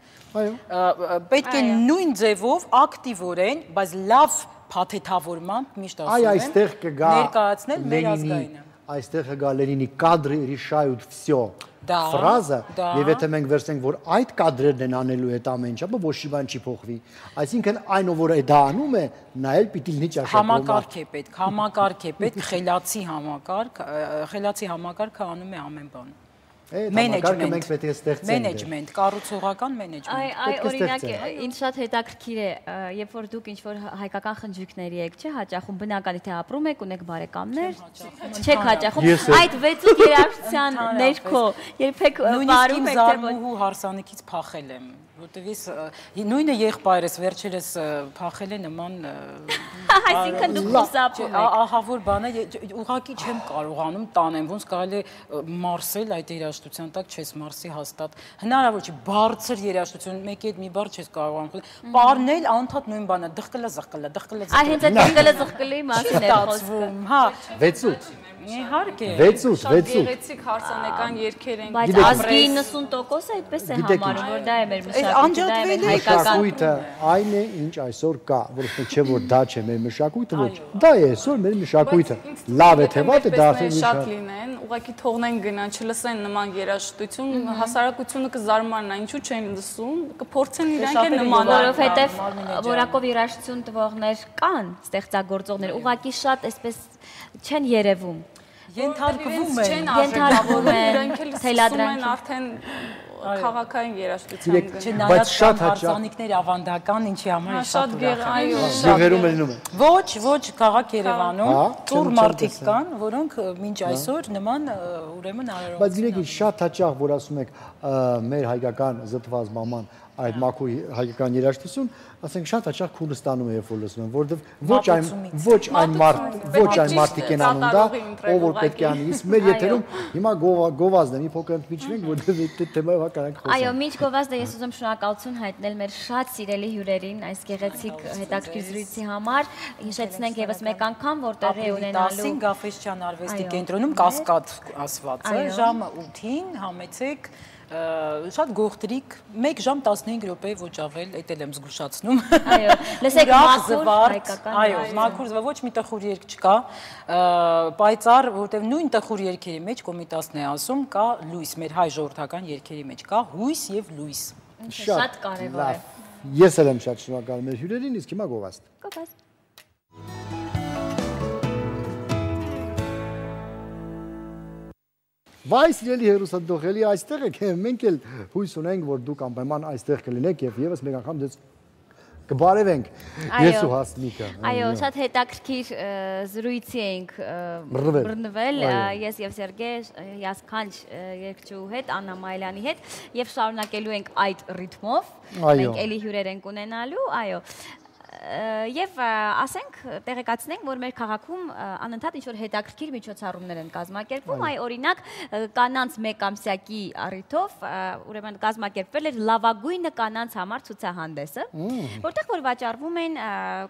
Պետք է նույն ձևով ակտիվորեն, բայց լավ փաթեթավորմամբ միշտ ասում եմ, ներկայացնել մեր ազգայինը։ Այստեղ կգա Լենինի կադրը решают всё ֆրազը, եւ եթե մենք վերցնենք, որ այդ կադրերն են անելու այդ ամեն ինչը, ոչ մի բան չի փոխվի։ Այսինքն այն ով որ դա անում է, նա էլ պիտի լինի ճաշակում։ Համակարգ է պետք, խելացի համակարգը անում է ամեն բան։ Մենեջմենտ, կառուցողական մենեջմենտ։ Այ օրինակ, ինձ շատ հետաքրքիր է, երբ որ դուք ինչ-որ հայկական խնջույքների եք, չէ, հաճախում բնականի թե ապրում եք, ունեք բարեկամներ, չեք հաճախում, այդ 6 երաժշտության ներքո երբեք բարում եք զարմուհու հարսանիքից փախել եմ, որտեվ ես նույնը եղբայրս վերջերս փախել է նման այսինքն դուք խուսափում եք։ Ահա որ բանը ուղղակի չեմ կարողանում տանեմ, ոնց կարելի է մարսել այդ երաժշտության տակ չես մարսի հաստատ։ Հնարավոր չի բարձր երաժշտություն, մեկի հետ մի բառ չես կարողանում։ Պարնել անընդհատ նույն բանը, դղկլը։ Այ հենց այդ դղկլի մասին է խոսքը։ Հա, 6-8 Իհարկե։ 6-8 Գեղեցիկ հարսանեկան երգեր են։ Բայց ազգի 90% այդպես է համարում, որ դա է մեր մշակույթը, դա է մեր հայկական։ Մշակույթը այն է, ինչ այսօր կա, որովհետեւ չէ որ դա չէ մեր մշակույթը, ոչ։ Դա է այսօր մեր մշակույթը։ Լավ է թե վատ է, դա արդեն շատ լինեն, ուղղակի թողնեն գնան, չլսեն նման երաժշտություն, հասարակությունը կզարմանա, ինչու չեն լսում, կփորձեն իրանք էլ նման, որովհետեւ որակով երաժշտություն տվողներ կան, ստեղծագործողներ, ուղղակի շատ այսպես չեն երևում։ Ենթարկվում են, թելադրանք արդեն քաղաքային երաժշտության չնայած շատ հարսանիքներ ավանդական, ինչի համար շատ Գյուղերում լինում է։ Ոչ, քաղաք Երևանում ծուռ մարդիկ կան, որոնք մինչ այսօր նման ուրեմն արարող։ Բայց գիտեք, շատ հաճախ որ ասում եք մեր հայկական զտված մաման այդ մաքուր հայկական երաժշտություն, ասենք շատ հաճախ քունը ստանում է երբ որ լսում եմ, որովհետև ոչ այն մարդիկ են անում դա, ով որ պետք է անի, իսկ մեր եթերում հիմա գովազդն է, մի փոքր ընդմիջվենք, որովհետև թեմայով հականանք խոսենք։ Այո, միջ գովազդը ես ուզում շնորհակալություն հայտնել մեր շատ սիրելի հյուրերին այս գեղեցիկ հետաքրքիր զրույցի համար։ Հիշեցնենք եւս մեկ անգամ, որ տեղի է ունենալու Գաֆեսյան արվեստի կենտրոնում կասկադ ասված է, ժամը 8-ին համեցեք շատ գողտրիկ 1 ժամ 15 րոպե ոչ ավել, էդ էլ եմ զգուշացնում։ Այո, լսեք մաքուր հայկական։ Այո, մաքուր, ոչ մի տխուր երգ չկա, պայծառ, որտեղ նույն տխուր երգերի մեջ Կոմիտասն է ասում, կա լույս, մեր հայ ժողովրդական երգերի մեջ կա հույս եւ լույս։ Շատ կարևոր է։ Ես էլ եմ շատ շնորհակալ մեր հյուրերին, իսկ հիմա գովազդ։ Գովազդ։ Վայ, սիրելի հերոսադոխելի, այստեղ եք, մենք էլ հույս ունենք, որ դուք անպայման այստեղ կլինեք եւ եւս մեկ անգամ դες կբարևենք ես ու Հասմիկը։ Այո, շատ հետաքրքիր զրույցի ենք բռնվել ես եւ Սերգեյ Յասքանչ երգչուհու հետ, Աննա Մայլյանի հետ եւ շարունակելու ենք այդ ռիթմով։ Մենք էլի հյուրեր ենք ունենալու, այո։ Եվ ասենք տեղեկացնենք, որ մեր քաղաքում անընդհատ ինչ-որ հետաքրքիր միջոցառումներ են կազմակերպվում, այ օրինակ կանանց մեկ ամսյակի առիթով, ուրեմն կազմակերպվել էր լավագույնը կանանց համար ցուցահանդեսը, որտեղ որ վաճառվում են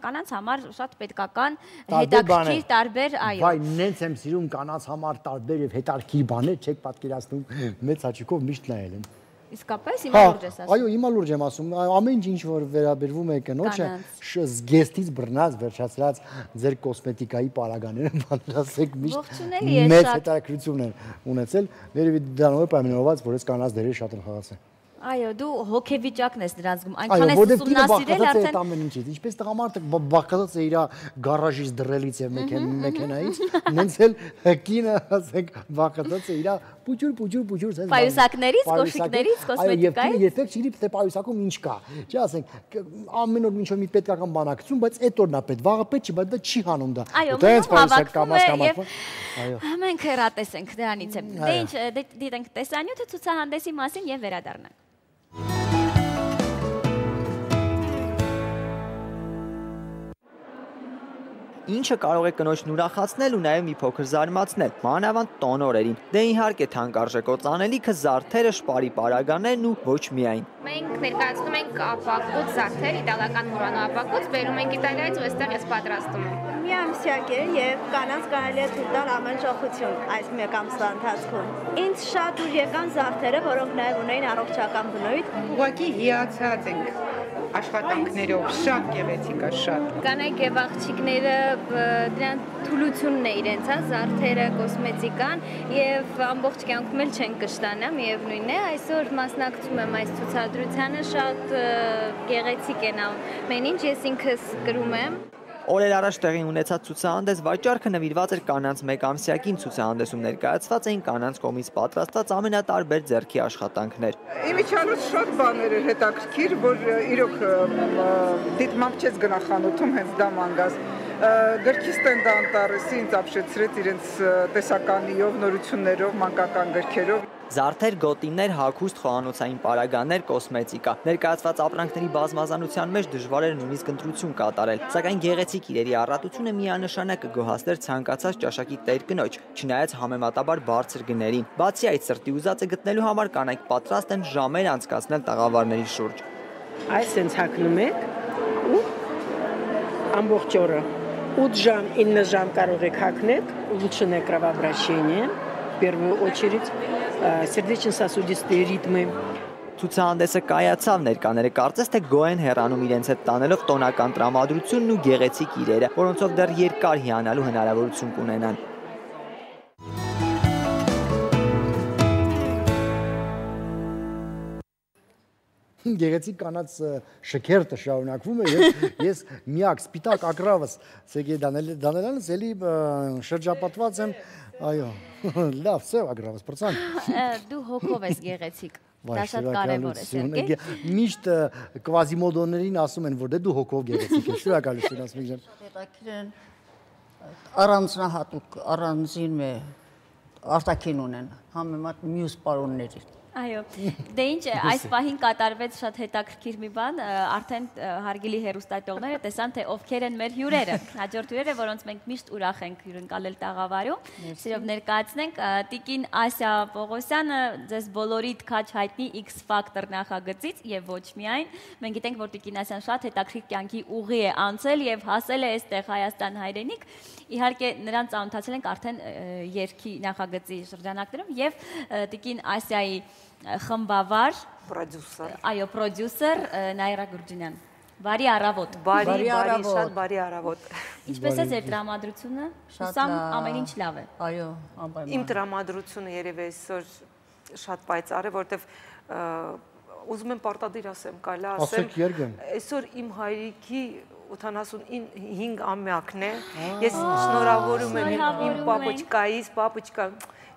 կանանց համար շատ պետքական հետաքրքիր տարբեր, այո։ Վայ, նենց եմ սիրում կանանց համար տարբեր եւ հետաքրքիր բաներ, չեք պատկերացնում, մեծ հաճույքով միշտ նայել եմ։ Իսկապես հիմա լուրջ ես ասում։ Այո, հիմա լուրջ եմ ասում, ամեն ինչ որ վերաբերվում է կնոջը, զգեստից բռնած, վերջացրած ձեր կոսմետիկայի պարագաները, բանասեք միշտ մեծ հետաքրքրություն են ունեցել, երևի դրանով է պայմանավորված, որ այս կանանց դերը շատ են խաղացել։ Այո, դու հոգեվիճակն ես դրանց գում, այնքան ես ուսումնասիրել արդեն ամեն ինչից, ինչպես տղամարդը բաղկացած է իր գարաժից դրելից եւ մեքենայից, նենց էլ կինը, ասենք, բաղկացած է իր պուջուր sense պայուսակներից, կոշիկներից, կոսմետիկայից։ Երբեք չի թե պայուսակում ինչ կա։ Չի ասենք, ամեն օր ինչ-որ մի պետքական բանակցություն, բայց այդ օրն է պետք, վաղը պետք չի, բայց դա չի հանում դա։ Այո, հավաքվում է եւ մենք հեռատես ենք դրանից է։ Դե ինչ, դիտենք տեսանյութը ցուցահանդեսի մասին եւ վերադառնանք։ Ինչը կարող է կնոջն ուրախացնել ու նաև մի փոքր զարմացնել, մանավանդ տոն օրերին։ Դե իհարկե թանկարժեք օծանելիքը, զարդերը, շպարի պարագաներն ու ոչ միայն։ Մենք ներկայացնում ենք ապակոց զարդեր, իտալական Մուրանո ապակոց, բերում ենք Իտալիայից ու այստեղ ես պատրաստում եմ։ Միամսյակ է եւ կանանց կարելի է թույլ տալ ամեն շոխություն այս մեկ ամսվա ընթացքում։ Ինձ շատ ուր եկան զարդերը, որոնք նաև ունեին առողջական բնույթ։ Ուղղակի հիացած ենք աշխատանքներով, շատ գեղեցիկ է, շատ։ Կանայք եւ աղջիկները դրան թուլությունն է իրենց, հա, զարդերը, կոսմետիկան եւ ամբողջ կյանքում էլ չեն կշտանա, միևնույնն է, այսօր մասնակցում եմ այս ցուցադրությանը, շատ գեղեցիկ են ամեն ինչ, ես ինքս կրում եմ։ Օրեր առաջ տեղի ունեցած ցուցահանդես վաճառքը նվիրված էր կանանց մեկ ամսյակին, ցուցահանդեսում ներկայացված էին կանանց կողմից պատրաստած ամենատարբեր ձեռքի աշխատանքներ։ Իմիջիալոց շատ բաներ էր հետաքրքիր, որ իրոք դիտմամբ չես գնա խանութում, հենց դա մանգաս։ Գրքի ստենդը անտառեսի ինձ ապշեցրեց իրենց տեսականիով, նորություններով, մանկական գրքերով։ Զարդեր, գոտիներ, հագուստ, խոհանոցային պարագաներ, կոսմետիկա։ Ներկայացված ապրանքների բազմազանության մեջ դժվար էր նույնիսկ ընտրություն կատարել, սակայն գեղեցիկ իրերի առատությունը միանշանակ կգոհացներ ցանկացած ճաշակի տեր կնոջ, չնայած համեմատաբար բարձր գներին։ Բացի այդ, սրտի ուզածը գտնելու համար կանայք պատրաստ են ժամեր անցկացնել տաղավարների շուրջ։ Այս sense հագնում եք ու ամբողջ օրը 8 ժամ, 9 ժամ կարող եք հագնել, улучшенное кровообращение, в первую очередь, сердечно-сосудистые ритмы. Ցուցահանդեսը կայացավ, ներկաները կարծես թե գոհ են հեռանում իրենց հետ տանելով տոնական տրամադրությունն ու գեղեցիկ իրերը, որոնցով դեռ երկար հիանալու հնարավորություն կունենան։ Գեղեցիկ կանանց շքերթը շարունակվում է եւ ես միակ սպիտակ ագրավս Սերգեյ Դանելյանից էլի շրջապատված եմ, այո, լավ, սև ագրավս, պրծան։ Դու հոգով ես գեղեցիկ, դա շատ կարևոր է, Սերգեյ։ Միշտ կվազիմոդոներին ասում են, որ դու հոգով գեղեցիկ ես, շնորհակալություն ասում ջան։ Հետաքրքիր են առանձնահատուկ, առանձին արտաքին ունեն։ համեմատ մյուս պարոնների։ Այո, դե ինչ, այս պահին կատարվեց շատ հետաքրքիր մի բան, արդեն հարգելի հեռուստատողները տեսան, թե ովքեր են մեր հյուրերը, հաջորդ հյուրերը, որոնց մենք միշտ ուրախ ենք հյուրընկալել տաղավարում, սիրով ներկայացնենք, Տիկին Ասիա Պողոսյանը ձեզ բոլորիդ քաչ հայտնի X Factor նախագծից եւ ոչ միայն, մենք գիտենք, որ Տիկին Ասիան շատ հետաքրքիր կյանքի ուղի է անցել եւ հասել է այստեղ Հայաստան հայրենիք, իհարկե նրան ծանոթացել ենք արդեն երգի նախագծի շրջանակներում եւ Տիկին Ասիայի խմբավար, այո, պրոդյուսեր Նայրա Գուրջինյան։ Բարի առավոտ։ Բարի, շատ բարի առավոտ։ Ինչպես է ձեր տրամադրությունը։ Հուսամ ամեն ինչ լավ է։ Այո, անպայման։ Իմ տրամադրությունը երևի այսօր շատ պայծառ է, որտեվ ուզում եմ պարտադիր ասեմ, կարելի է ասեմ, այսօր իմ հայրիկի 85 ամյակն է։ Ես շնորհավորում եմ իմ պապուչկայից, պապուչկա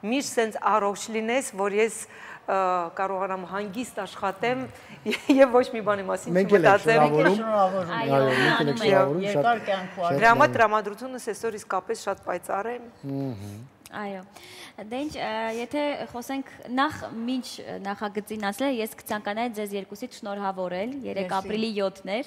միշտ սենց առողջ լինես, որ ես կարողանամ հանգիստ աշխատեմ եւ ոչ մի բանի մասին չմտածեմ։ Դրա համար տրամադրությունս այսօր իսկապես շատ պայծառ է։ Այո, դե ինչ, եթե խոսենք նախ մինչ նախագծին ասել, ես կցանկանայի ձեզ երկուսից շնորհավորել, 3 ապրիլի 7-ն էր։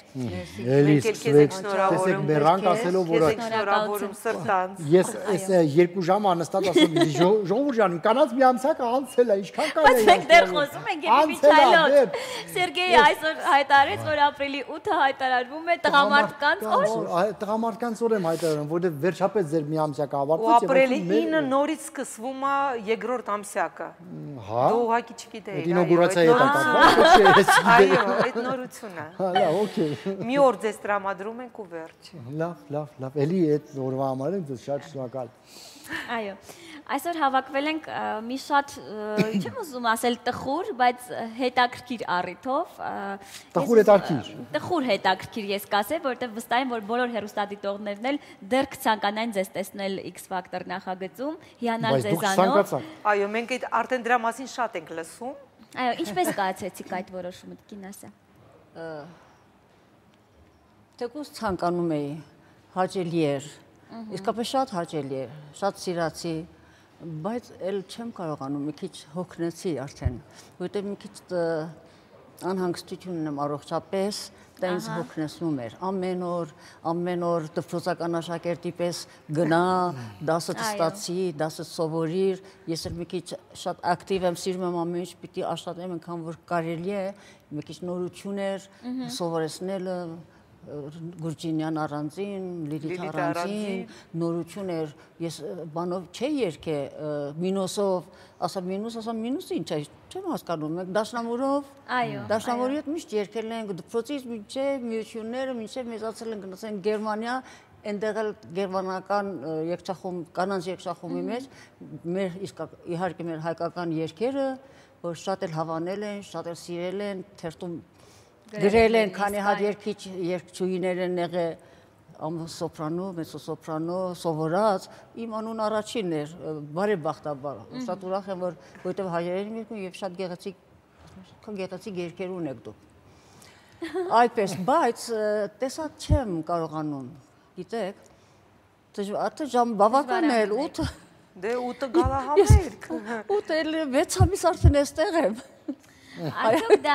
Տեսեք մեռանք ասելով, որ շնորհավորում սրտանց։ Ես այս 2 ժամ անստատ ասում, ժողովուրդ ջան, կանաց մի ամսակ անցել է, ինչքան կարելի է։ Բայց մենք դեռ խոսում ենք Եփի Միչայլոտ։ Սերգեյը այսօր հայտարարեց, որ ապրիլի 8-ը հայտարարվում է տղամարդկանց օր։ Տղամարդկանց օր եմ հայտարարում, որովհետև վերջապես ձեր մի ամսակ ավարտվեց եւ ապրիլի 9-ը նորից սկսվում է երկրորդ ամսյակը։ Հա։ Դու ուղղակի չգիտեիր։ Ինոգուրացիայի հետ կապված։ Այո, այդ նորությունը։ Հա, լավ, օքեյ։ Մի օր ձեզ տրամադրում ենք ու վերջ։ Լավ, էլի այդ օրվա համար եմ ձեզ շատ շնորհակալ։ Այո։ Այսօր հավաքվել ենք մի շատ, չեմ ուզում ասել տխուր, բայց հետաքրքիր առիթով։ Տխուր հետաքրքիր ես կասեմ, որովհետև վստահ եմ, որ բոլոր հեռուստադիտողներն էլ դեռ կցանկանային ձեզ տեսնել X Factor նախագծում, հիանալ ձեզանով։ Այո, մենք այդ արդեն դրա մասին շատ ենք լսում։ Այո, ինչպես կայացրեցիք այդ որոշումը, Տիկին Ասիա։ Թեկուզ ցանկանում էի, հաճելի էր, իսկապես շատ հաճելի էր, շատ սիրացի, բայց էլ չեմ կարողանում, մի քիչ հոգնեցի արդեն, որտեղ մի քիչ անհանգստություն ունեմ առողջապես, դա ինձ հոգնեցնում էր, ամեն օր դպրոցական աշակերտի պես գնա, դասը ստացի, դասը սովորիր, ես էլ մի քիչ շատ ակտիվ եմ, սիրում եմ ամեն ինչ պիտի աշխատեմ, այնքան որ կարելի է, մի քիչ նորություն էր, սովորեցնելը, Գուրջինյան առանձին, Լիլիթ առանձին, նորություն էր, ես բանով չէի երգե, մինուսով, մինուսը ինչ է, չեմ հասկանում, մենք դաշնամուրի հետ միշտ երգել ենք, դպրոցից մինչև միությունները, մինչև մեծացել ենք, գնացել Գերմանիա, այնտեղ էլ գերմանական կանանց երգչախումբի մեջ, իհարկե մեր հայկական երգերը, որ շատ էլ հավանել են, շատ էլ սիրել են, թերթում գրել են, քանի հատ երգչուհիներ են եղել սոպրանո, մեծոսոպրանո, սովորած, իմ անուն առաջինն էր, բարեբախտաբար, շատ ուրախ եմ, որովհետև հայերեն եմ երգում և շատ գեղեցիկ երգեր ունեք դուք։ Այդպես, բայց տեսակ չեմ կարողանում, գիտեք, ժամ բավական էլ, 8 Դե 8-ը գալա համերգ։ 8 էլ 6 ամիս արդեն էստեղ եմ։ Արդյոք դա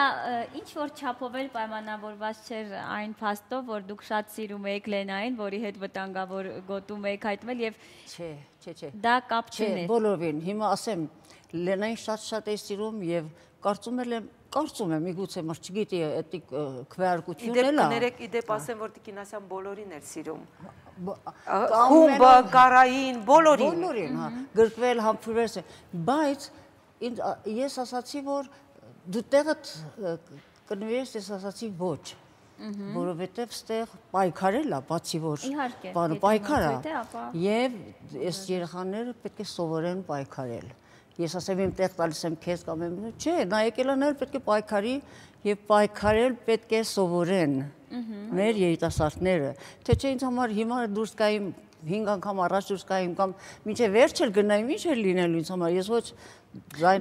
ինչ-որ չափով էլ պայմանավորված չէր այն փաստով, որ դուք շատ սիրում եք Լենային, որի հետ վտանգավոր գոտում եք հայտնվել եւ Չէ։ Դա կապ չուներ։ Չէ, բոլորին։ Հիմա ասեմ, Լենային շատ էի սիրում եւ կարծում եմ, միգուցե մար չգիտի, այդ քվեարկությունն էլ է։ Իդեպ ասեմ, որ Տիկին Ասիան բոլորին էր սիրում։ Խումբը, կարային, բոլորին, գրկվել, համբուրվել, բայց ես ասացի, որ դու տեղդ կնվիրես, ես ասացի ոչ, որովհետև ստեղ պայքարել է, բացի որ պայքար է, և ես երեխաները պետք է սովորեն պայքարել։ Ես ասեմ, իմ տեղ տալիս եմ քեզ կամ եմ, չէ, նա եկելանել պետք է պայքարի և պայքարել պետք է սովորեն մեր երիտասարդները, թե չէ ինձ համար հիմա դուրս կայիմ 5 անգամ առաջ դուրս կայիմ կամ մինչև վերջ էլ գնայիմ, ինչ էր լինելու ինձ համար, ես ոչ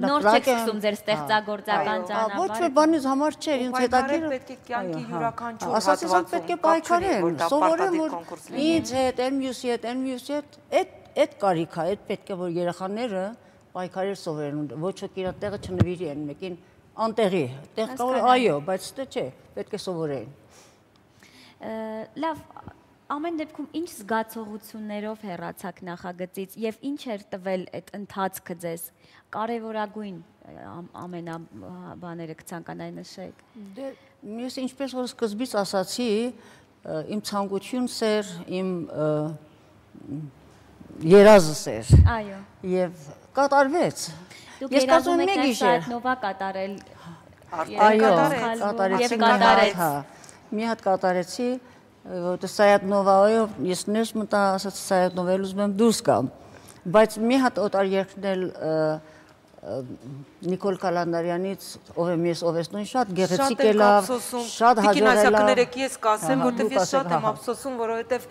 նոր չեք սկսում ձեր ստեղծագործական ճանապարհը։ Ոչ մի բանից համար չէր, ինձ հետաքրքիր պետք է կյանքի յուրաքանչյուր հատվածում պետք է պայքարեն, սովորեն, որ ինձ հետ, այն մյուսի հետ, այդ կարիք է, այդ պետք է որ երեխաները պայքարել սովորեն, ոչ ոք իր տեղը չնվիրի են մեկին անտեղի, տեղ կա որ այո, բայց դա չէ, պետք է սովորեն։ Լավ, ամեն դեպքում ինչ զգացողություններով հեռացաք նախագծից եւ ինչ էր տվել այդ ընթացքը ձեզ, կարևորագույն ամենաբաները կցանկանայի նշեք։ Դե ես ինչպես որ սկզբից ասացի, իմ ցանկությունս էր, իմ երազս էր։ Այո։ Եվ կատարվեց։ Դուք երազում եք Սայաթ Նովա կատարել։ Այո, կատարեցի, մի հատ կատարեցի, որտեղ Սայաթ Նովայով ես ներս մտա, ասացի Սայաթ Նովայից ուզում եմ դուրս գամ, բայց մի հատ օտար երգն էլ Նիկոլ Կալանդարյանից ով եմ ես ով ես նույն շատ գեղեցիկ է լավ, շատ հաջողել է։ Կներեք ես կասեմ, որտեվ ես շատ եմ ափսոսում, որովհետև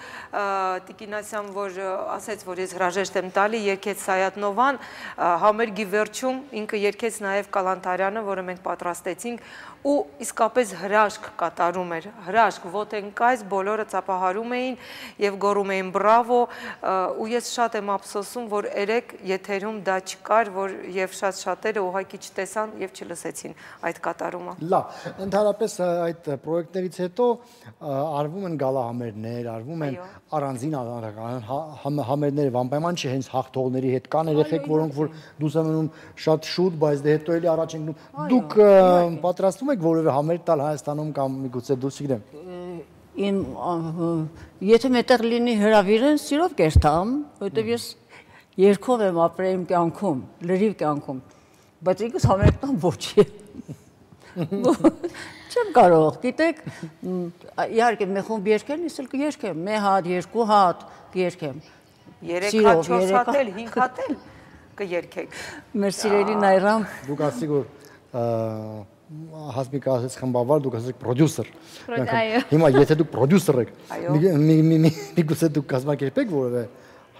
Տիկինասյան որ ասեց, որ ես հրաժեշտ եմ տալի, երգեց Սայաթ Նովան, համերգի վերջում ինքը երգեց նաև Կալանդարյանը, որը մենք պատրաստեցինք ու իսկապես հրաշք կատարում էր, հրաշք, ոտենկայս, բոլորը ծափահարում էին եւ գոռում էին բրավո, ու ես շատ եմ ափսոսում, որ երեք եթերում դա չկար, որ եւ շատ շատերը ուղղակի չտեսան եւ չլսեցին այդ կատարումը։ Լավ, ընդհանրապես այդ պրոյեկտներից հետո արվում են գալահամերներ, արվում են առանձին համերներ, անպայման չէ հենց հաղթողների հետ կան երեխեք, որոնք որ դուրս են մնում շատ շուտ, բայց դե հետո էլի առաջ են գնում։ Դուք պատրաստվում եք որևէ համեր տալ Հայաստանում կամ միգուցե դուրս չգիտեմ։ Եթե մետեղ լինի հրավիրեն, սիրով կերտամ, որովհետև ես երկով եմ ապրել իմ կյանքում, լրիվ կյանքում, բայց ինքս համերգ տամ ոչի։ Չեմ կարող, գիտեք, իհարկե մի խումբ երգել, ես էլ կերգեմ, մի հատ, երկու հատ կերգեմ։ 3 հատ, 4 հատ էլ, 5 հատ էլ կերգեք։ Մեր սիրելի Նայրամ։ Դուք ասեք որ Հասմիկը ասեց խմբավար, դուք ասեք պրոդյուսեր։ Հիմա եթե դուք պրոդյուսեր եք, միգուցե դուք կազմակերպեք որևէ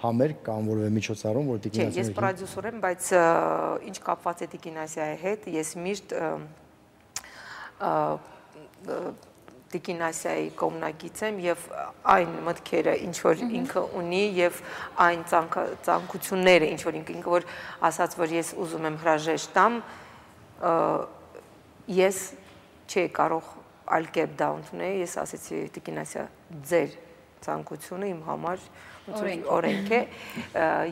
համերգ կամ որևէ միջոցառում, որ Տիկինասյանը։ Ես պրոդյուսեր եմ, բայց ինչ կապված է Տիկինասյայի հետ, ես միշտ Տիկինասյայի կողմնակից եմ եւ այն մտքերը, ինչ որ ինքը ունի եւ այն ցանկությունները, ինչ որ ինքը որ ասաց, որ ես ուզում եմ հրաժեշտ տամ, ես չի կարող այլ կերպ դա ընդունել, ես ասեցի Տիկինասյա, ձեր ցանկությունը իմ համար օրենք է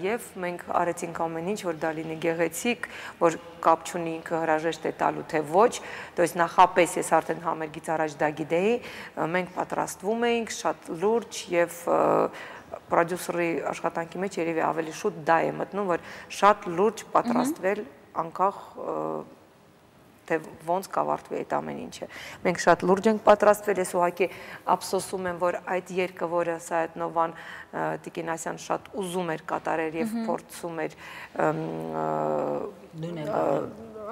եւ մենք արեցինք ամեն ինչ, որ դա լինի գեղեցիկ, որ կապ չունի ինքը հրաժեշտ է տալու թե ոչ, то есть նախապես ես արդեն համերգից առաջ դա գիտեի, մենք պատրաստվում էինք շատ լուրջ եւ պրոդյուսերի աշխատանքի մեջ երևի ավելի շուտ դա է մտնում, որ շատ լուրջ պատրաստվել անկախ թե ոնց կավարտվի այդ ամեն ինչը։ Մենք շատ լուրջ ենք պատրաստվել, ես ուղղակի ափսոսում եմ, որ այդ երգը, որը Սայաթ Նովան Տիկինասյան շատ ուզում էր կատարել եւ փորձում էր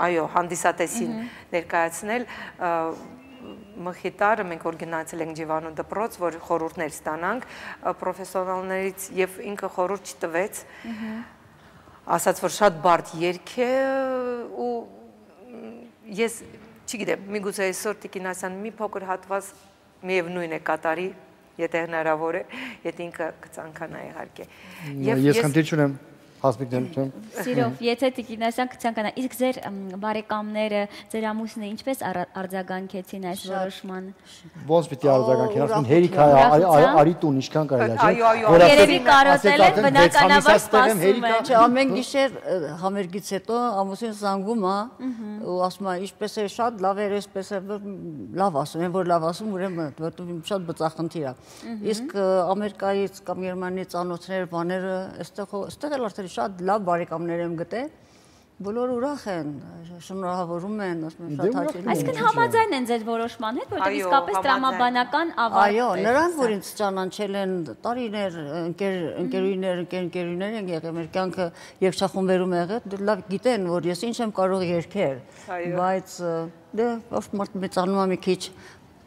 այո, հանդիսատեսին ներկայացնել, մխիտարը մենք որ գնացել ենք Ջիվանու դպրոց, որ խորհուրդներ ստանանք պրոֆեսիոնալներից եւ ինքը խորհուրդ չտվեց, ասաց, որ շատ բարդ երգ է ու ես չգիտեմ, միգուցե այսօր Տիկինասյան մի փոքր հատված միևնույն է կատարի, եթե հնարավոր է, եթե ինքը կցանկանա իհարկե։ Ես խնդիր չունեմ, Հասմիկն եմ։ Սիրով, եթե Տիկինասյան կցանկանա, իսկ ձեր բարեկամները, ձեր ամուսինը ինչպես արձագանքեցին այս որոշմանը։ Ոնց պիտի արձագանքեն, ասում հերիք արի տուն, ինչքան կարելի է, չէ՞։ Երևի կարոտել են, բնականաբար սպասում են։ Չէ, ամեն գիշեր համերգից հետո ամուսին զանգում է ու ասում է, ինչպես է շատ լավ էր, այսպես է լավ ասում, են որ լավ ասում, ուրեմն որտեղ շատ բծախնդիր է։ Իսկ Ամերիկայից կամ Գերմանիայից անոթներ, բաները, այստեղ էլ արդեն շատ լավ բարեկամներ եմ գտել, բոլորը ուրախ են, շնորհավորում են, ասում են շատ հաճելի։ Այսինքն համաձայն են ձեր որոշման հետ, որտեղ իսկապես տրամաբանական ավարտ է։ Այո, նրանք որ ինձ ճանաչել են տարիներ, ընկերուներ են եղել, մեր կյանքը երգչախումբերում եղել, լավ գիտեն, որ ես ինչ եմ կարող երգել, բայց դե մեծանում է մի քիչ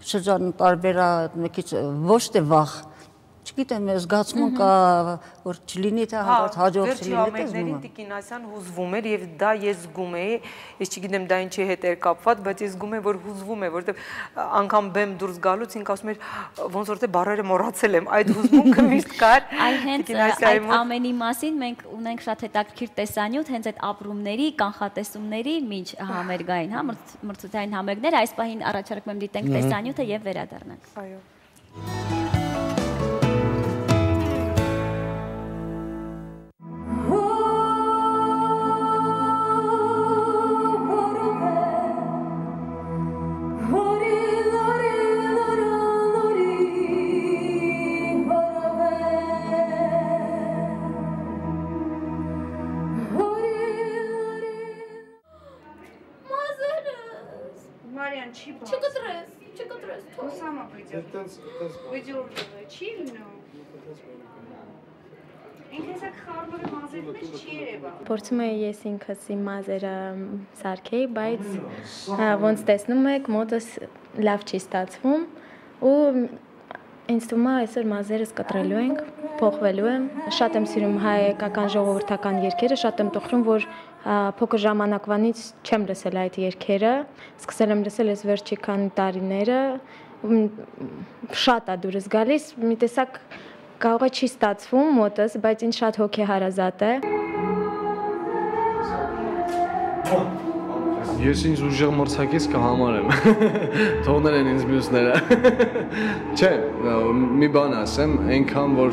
շրջան տարբերա, մի քիչ ոչ թե վախ Չգիտեմ, զգացմունք կա, որ չլինի թե հանդարտ հաջող չլինի, դա զգում եմ։ Տիկին Ասյան հուզվում էր եւ դա ես զգում էի, ես չգիտեմ դա ինչի հետ էր կապված, բայց ես զգում եմ, որ հուզվում է, որովհետեւ անգամ բեմ դուրս գալուց ինք ասում էր ոնց որ թե բառերը մոռացել եմ, այդ հուզմունքը միշտ կար։ Այ հենց այդ ամենի մասին մենք ունենք շատ հետաքրքիր տեսանյութ, հենց այդ ապրումների, կանխատեսումների միջ համերգային, հա, մրցութային համերգներ, այս պահին առաջարկում եմ դիտենք տեսանյութը եւ վերադառնանք։ Այո։ Փորձում եմ ես ինքս իմ մազերը սարքեի, բայց ոնց տեսնում եք, մոտս լավ չի ստացվում ու ինձ թվում է այսօր մազերս կտրելու ենք, փոխվելու եմ։ Շատ եմ սիրում հայկական ժողովրդական երգերը, շատ եմ տխրում, որ փոքր ժամանակվանից չեմ լսել այդ երգերը, սկսել եմ լսել ես վերջի քանի տարիները, շատ է դուրս գալիս, մի տեսակ կարող է չի ստացվում մոտս, բայց ինձ շատ հոգեհարազատ է։ Ես ինձ ուժեղ մրցակից կհամարեմ, թողնել են ինձ մյուսները։ Չէ, մի բան ասեմ, այնքան որ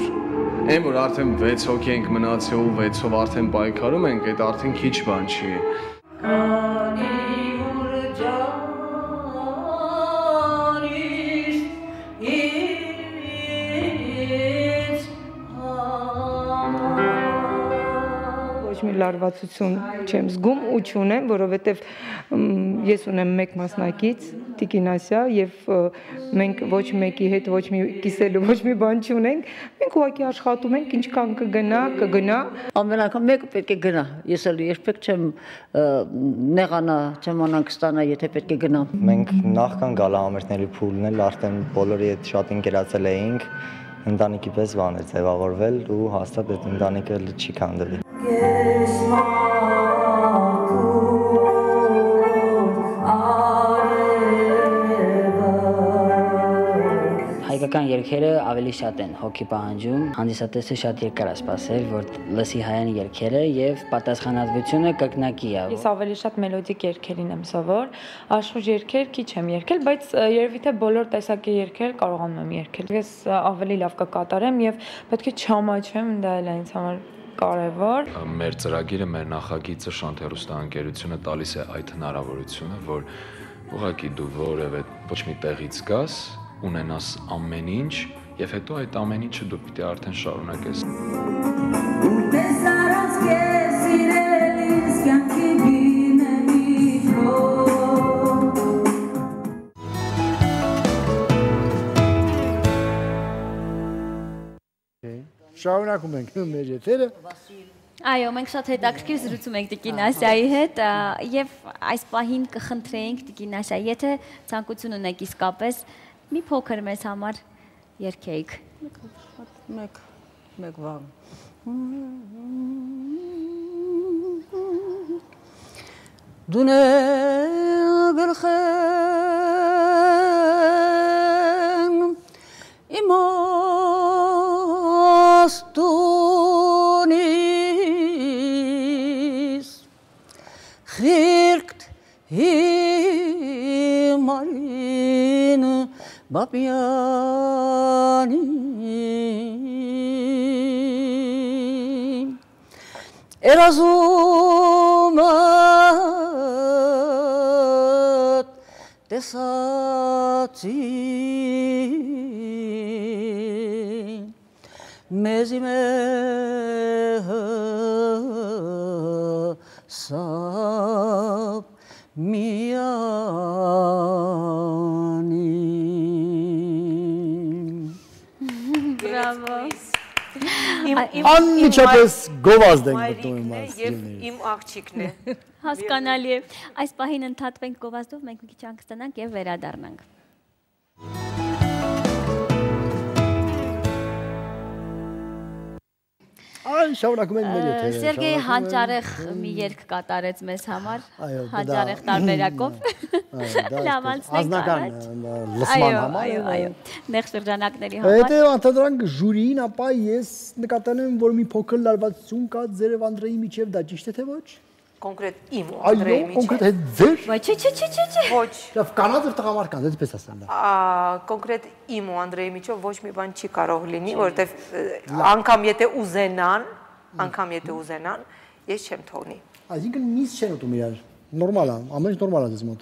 արդեն 6 հոգի ենք մնացել ու 6-ով արդեն պայքարում ենք, այդ արդեն քիչ բան չի։ Մի լարվածություն չեմ զգում ու չունեմ, որովհետև ես ունեմ մեկ մասնակից, Տիկին Ասիա, եւ մենք ոչ մեկի հետ ոչ մի կիսելու ոչ մի բան չունենք, մենք ուղղակի աշխատում ենք, ինչքան կգնա։ Ամեն անգամ մեկը պետք է գնա։ Ես էլ երբեք չեմ նեղանա, չեմ անանք ստանա, եթե պետք է գնամ։ Մենք նախքան գալահամերգների փուլն էլ արդեն բոլորի հետ շատ ընկերացել էինք, ընտանիքի պես բան էր ձևավորվել ու հաստատ այդ ընտանիքը չի քանդվի։ Հայկական երգերը ավելի շատ են հոգի պահանջում, հանդիսատեսը շատ երկար է սպասել, որ լսի հայան երգերը եւ պատասխանատվությունը կրկնակի է։ Ես ավելի շատ մելոդիկ երգերին եմ սովոր, աշխուժ երգեր քիչ եմ երգել, բայց երևի թե բոլոր տեսակի երգեր կարողանում եմ երգել։ Ես ավելի լավ կկատարեմ եւ պետք է չամաչեմ, դա էլ է ինձ համար կարևոր։ Մեր ծրագիրը, մեր նախագիծը Շանթ հեռուստաընկերությունը տալիս է այդ հնարավորությունը, որ ուղղակի դու որևէ ոչ մի տեղից գաս, ունենաս ամեն ինչ եւ հետո այդ ամեն ինչը դու պիտի արդեն շարունակես։ Շարունակում ենք մեր եթերը։ Այո, մենք շատ հետաքրքիր զրուցում ենք Տիկին Ասիայի հետ եւ այս պահին կխնդրեինք Տիկին Ասիա, եթե ցանկություն ունեք իսկապես մի փոքր մեզ համար երգեիք։ Մեկ բան։ Դունե գլխեն իմաստունիս խիրկտ հիմարին բապյանի Երազումըտ տեսացի մեզի սապ միանի Բրավո։ Անմիջապես գովազդ ենք մտնում իմ եւ իմ աղջիկն է։ Հասկանալի է։ Այս պահին ընդհատվենք գովազդով, մենք մի քիչ անկստանանք եւ վերադառնանք։ Այն շարունակում են մեր եթերը։ Սերգեյ հանճարեղ մի երգ կատարեց մեզ համար, հանճարեղ տարբերակով։ Ազնական լսման համար։ Այո, նեղ շրջանակների համար։ Հետո անդրադրանք ժյուրիին, ապա ես նկատել եմ, որ մի փոքր լարվածություն կա ձեր եւ Անդրեի միջև, դա ճիշտ է թե ոչ։ Կոնկրետ իմ ու Անդրեի միջև։ Այո, կոնկրետ հետ ձեր։ Ոչ, ոչ։ Լավ, կանանց եւ տղամարդկանց, այդպես ասեմ դա։ Կոնկրետ իմ ու Անդրեի միջև ոչ մի բան չի կարող լինի, որովհետեւ անգամ եթե ուզենան, ես չեմ թողնի։ Այսինքն միս չեն ուտում իրար։ Նորմալ է, ամեն ինչ նորմալ է ձեզ մոտ։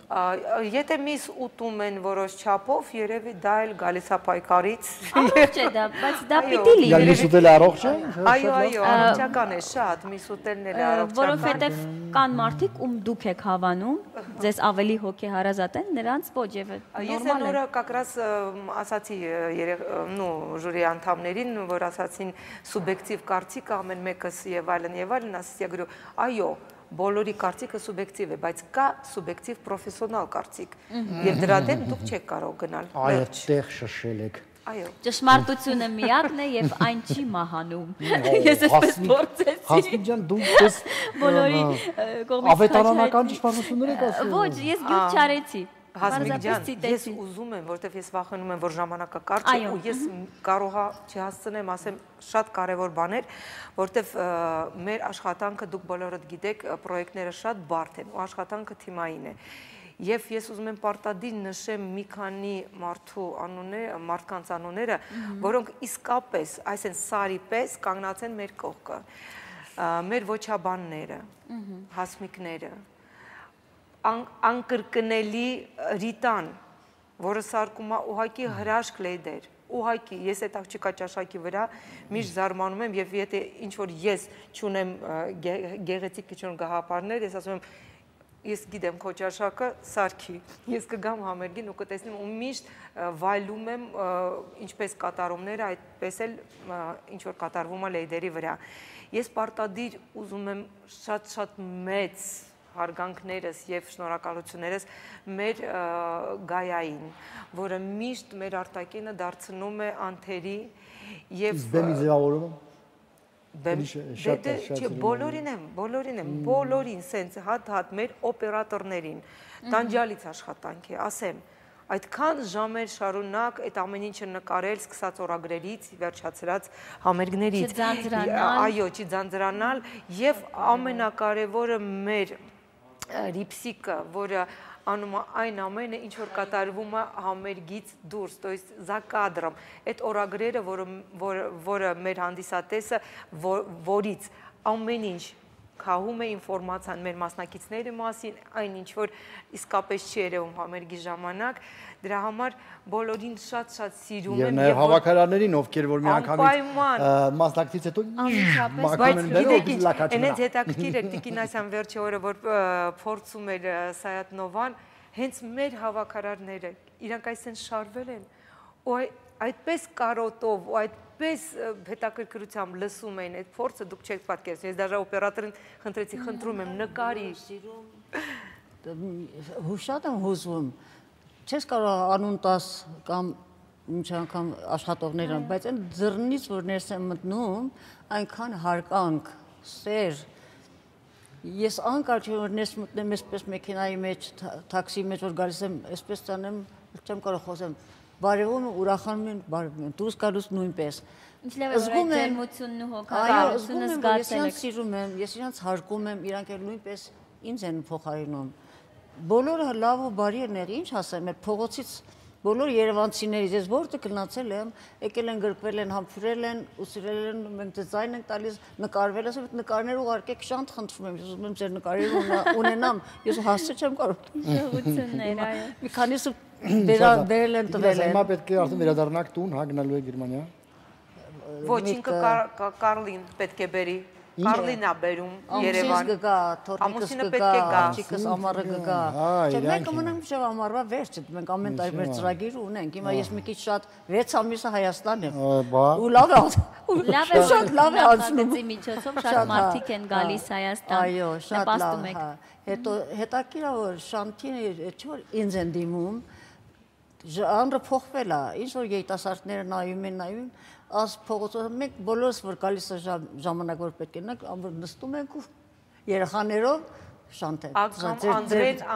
Եթե միս ուտում են որոշ չափով, երևի դա էլ գալիս է պայքարից։ Առողջ է դա, բայց դա պիտի լինի։ Միս ուտելը առողջ է։ Այո, առողջական է, շատ, միս ուտելն էլ առողջական։ Որովհետև կան մարդիկ, ում դուք եք հավանում, ձեզ ավելի հոգեհարազատ են, նրանց ոչ եւ Ես այն օրը կակրաս ասացի ժյուրի անդամներին, որ ասացին սուբյեկտիվ կարծիք ամեն մեկս եւ այլն, ասեցի գրու, այո, բոլորի կարծիքը սուբյեկտիվ է, բայց կա սուբյեկտիվ պրոֆեսիոնալ կարծիք եւ դրա դեմ դուք չեք կարող գնալ։ Այդտեղ շշել եք։ Այո։ Ճշմարտությունը միակն է եւ այն չի մահանում։ Ես այսպես փորձեցի։ Հասմիկ ջան, դուք ես բոլորի կողմից ավետարանական ճշմարտություններ եք ասում։ Ոչ, ես գյուտ չարեցի։ Հասմիկ ջան, ես ուզում եմ, որտեվ ես վախենում եմ, որ ժամանակը կարճ է ու ես կարողա չհասցնեմ ասեմ շատ կարևոր բաներ, որտեվ մեր աշխատանքը դուք բոլորդ գիտեք, պրոյեկտները շատ բարդ են ու աշխատանքը թիմային է։ Եվ ես ուզում եմ պարտադիր նշեմ մի քանի մարդկանց անունները, որոնք իսկապես, այսինքն սարի պես կանգնած են մեր կողքը։ Մեր ոչաբանները, հասմիկները, անկրկնելի Ռիտան, որը սարկում է ուղղակի հրաշք լեյդեր, ուղղակի ես այդ աղջիկա ճաշակի վրա միշտ զարմանում եմ եւ եթե ինչ որ ես չունեմ գեղեցիկ քիչ գաղափարներ, ես ասում եմ ես գիտեմ քո ճաշակը սարքի, ես կգամ համերգին ու կտեսնեմ ու միշտ վայելում եմ ինչպես կատարումները, այդպես էլ ինչ որ կատարվում է լեյդերի վրա։ Ես պարտադիր ուզում եմ շատ մեծ հարգանքներս եւ շնորհակալություններս մեր Գայային, որը միշտ մեր արտակինը դարձնում է անթերի եւ բեմի ձևավորումը բոլորին սենց հատ մեր օպերատորներին տանջալից աշխատանք է, ասեմ այդքան ժամեր շարունակ այդ ամեն ինչը նկարել, սկսած օրագրերից, վերջացրած համերգներից, այո, չձանձրանալ եւ ամենակարևորը մեր Ռիպսիկը, որը անում է այն ամենը, ինչ որ կատարվում է համերգից դուրս, то есть за кадром, այդ օրագրերը, որը մեր հանդիսատեսը, որից ամեն ինչ քահում է ինֆորմացիան մեր մասնակիցների մասին, այն ինչ որ իսկապես չի երևում համերգի ժամանակ, դրա համար բոլորին շատ սիրում եմ եւ հավաքարարներին, ովքեր որ մի անգամից մասնակցից հետո բայց գիտեք ինչ, այնց հետաքրքիր է Տիկին Ասյան վերջի օրը որ փորձում էր Սայաթնովան, հենց մեր հավաքարարները իրանք այսեն շարվել են ու այդպես կարոտով ու այդպես հետաքրքրությամբ լսում էին այդ փորձը դուք չեք պատկերացնում։ Ես դաժե օպերատորին խնդրեցի, խնդրում եմ նկարի։ Շատ եմ հուզվում։ Չես կարող անուն տաս կամ ինչ անգամ աշխատողներն, բայց այն ձեռնից որ ներս եմ մտնում, այնքան հարկանք, սեր։ Ես անկարճ որ ներս մտնեմ այսպես մեքենայի մեջ, թաքսի մեջ որ գալիս եմ, այսպես ցանեմ, չեմ կարող խոսեմ։ Բարևում ուրախանում են, բարևում են, դուրս գալուց նույնպես։ Ինչ լավ է ջերմությունն ու հոգատարությունը զգացել եք։ Ես սիրում եմ, ես իրանց հարգում եմ, իրանք էլ նույնպես ինձ են փոխարինում։ Բոլորը լավ ու բարի են եղել, ինչ ասեմ, այդ փողոցից բոլոր երևանցիներից, ես որտեղ գնացել եմ, եկել են գրկվել են, համբուրել են, ուսրել են, մենք դիզայն ենք տալիս, նկարվել, ասեմ, այդ նկարները ուղարկեք շանտ խնդրում եմ, ես ուզում եմ ձեր նկարերը ունենամ, ես հասցե չեմ կարող։ Շնորհություններ, այո։ Մի քանիսը վերել են տվել են։ Հիմա պետք է արդեն վերադառնաք տուն, հա, գնալու եք Գերմանիա։ Ոչ, ինքը Կարլին պետք է բերի։ Կարլինա բերում Երևան։ Ամուսինս կգա, աղջիկս ամառը կգա։ Չէ, մենք մնանք մինչև ամառվա վերջը, մենք ամեն տարի մեր ծրագիր ունենք։ Հիմա ես մի քիչ շատ 6 ամիսը Հայաստան եմ։ Ու լավ է, շատ լավ է անցնում։ Միջոցով շատ մարդիկ են գալիս Հայաստան։ Այո, շատ լավ է։ Հետո հետաքրքիր է որ Շանթին չէ որ ինձ են դիմում, ժանրը փոխվել է, ինչ որ երիտասարդները նայում են, աս փողոցով մենք բոլորս որ գալիս է ժամանակ որ պետք է նանք, ամբողջ նստում ենք ու երեխաներով շանթենք։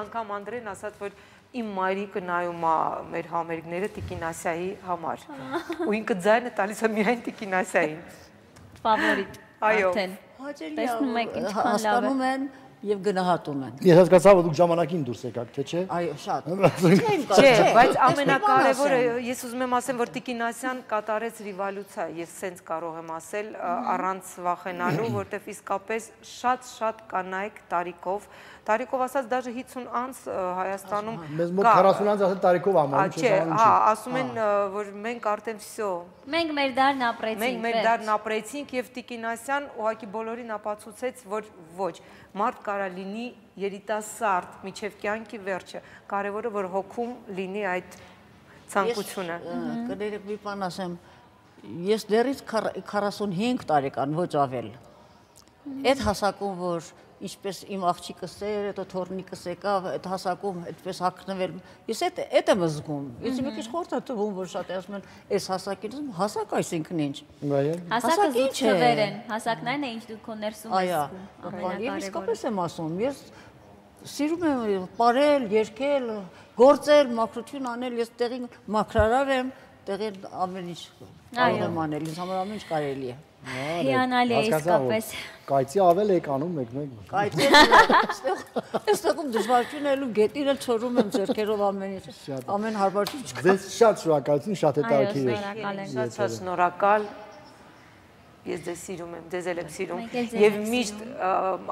Անգամ Անդրեն ասաց, որ իմ մայրիկը նայում է մեր համերգները Տիկին Ասիայի համար։ Ու ինքը ձայնը տալիս է միայն Տիկին Ասիային։ Ֆավորիտ։ Արդեն։ Տեսնում եք ինչքան լավ է։ Հասկանում են եւ գնահատում են։ Ես հասկացա, որ դուք ժամանակին դուրս եկաք, թե չէ։ Այո, շատ։ Չէ, բայց ամենակարևորը ես ուզում եմ ասեմ, որ Տիկին Ասիան կատարեց ռիվոլյուցիա, ես սենց կարող եմ ասել առանց վախենալու, որտեվ իսկապես շատ կանայք տարիքով ասած դաժե 50 անց Հայաստանում մեզ մոտ 40 անց ասել տարիքով ամառ չէ, հա, ասում են, որ մենք արդեն всё մենք մեր դարն ապրեցինք։ Մենք մեր դարն ապրեցինք եւ Տիկին Ասիան ուղղակի բոլորին ապացուցեց, որ ոչ, մարդ կարա լինի երիտասարդ միջև կյանքի վերջը, կարևորը որ հոգում լինի այդ ցանկությունը։ Կներեք մի բան ասեմ, ես դեռից 45 տարեկան, ոչ ավել։ Այդ հասակում որ ինչպես իմ աղջիկս էր, հետո թորնիկս եկավ, այդ հասակում այդպես հագնվել։ Ես այդ եմ զգում։ Ես մի քիչ խորտ եմ թվում, որ շատ ասում են, այս հասակին, հասակ այսինքն ինչ։ Հասակը զուտ թվեր են, հասակներն է ինչ դու քո ներսում ես զգում։ Այո, իսկապես եմ ասում, ես սիրում եմ ապրել, երգել, գործել, մաքրություն անել, ես տեղին մաքրարար եմ, տեղին ամեն ինչ կարող եմ անել, ինձ համար ամեն ինչ կարելի է։ Հիանալի է իսկապես։ Կայծի ավել եք անում մեկ։ Կայծի այստեղում դժվարություն էլ ու գետին էլ չորում եմ ձեռքերով ամեն ինչ։ Ամեն հարբարություն չկա։ Ձեզ շատ շնորհակալություն, շատ հետաքրքիր էր։ Շատ շնորհակալ։ Ես ձեզ սիրում եմ, ձեզ էլ եմ սիրում եւ միշտ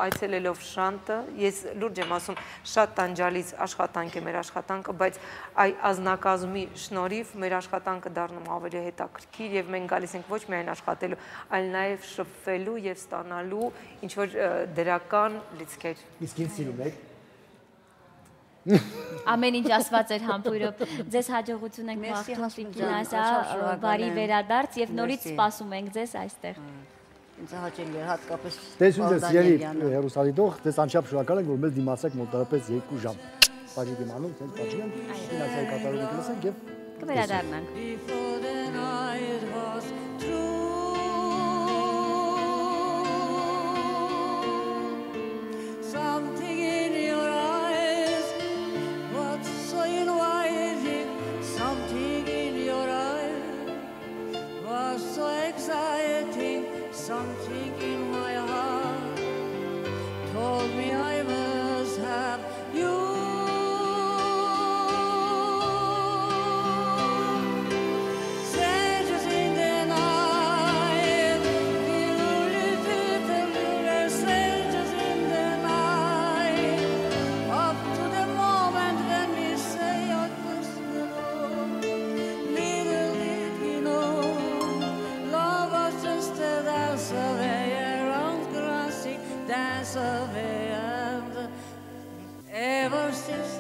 այցելելով Շանտը, ես լուրջ եմ ասում, շատ տանջալից աշխատանք է մեր աշխատանքը, բայց այ ազնագազմի շնորհիվ մեր աշխատանքը դառնում ավելի հետաքրքիր եւ մենք գալիս ենք ոչ միայն աշխատելու, այլ նաեւ շփվելու եւ ստանալու ինչ որ դրական լիցքեր։ Իսկ ինձ սիրում եք։ Ամեն ինչ ասված էր համբույրով։ Ձեզ հաջողություն ենք մաղթում Տիկին Ասիա, բարի վերադարձ եւ նորից սպասում ենք ձեզ այստեղ։ Ինձ հաճելի է հատկապես։ Տեսնում ես ելի հերոսադիտող, դες անչափ շնորհակալ ենք որ մեզ դիմացեք մոտավորապես 2 ժամ։ Բաժի դիմանում, ցենց բաժի եմ, Տիկին Ասիայի կատարումը կլսենք եւ կվերադառնանք։ Something in my heart told me I must have you. Strangers in the night, strangers in the night, up to the moment when we say our goodbye. Little did we know, love was just a dance away around grassy, dance away, and ever since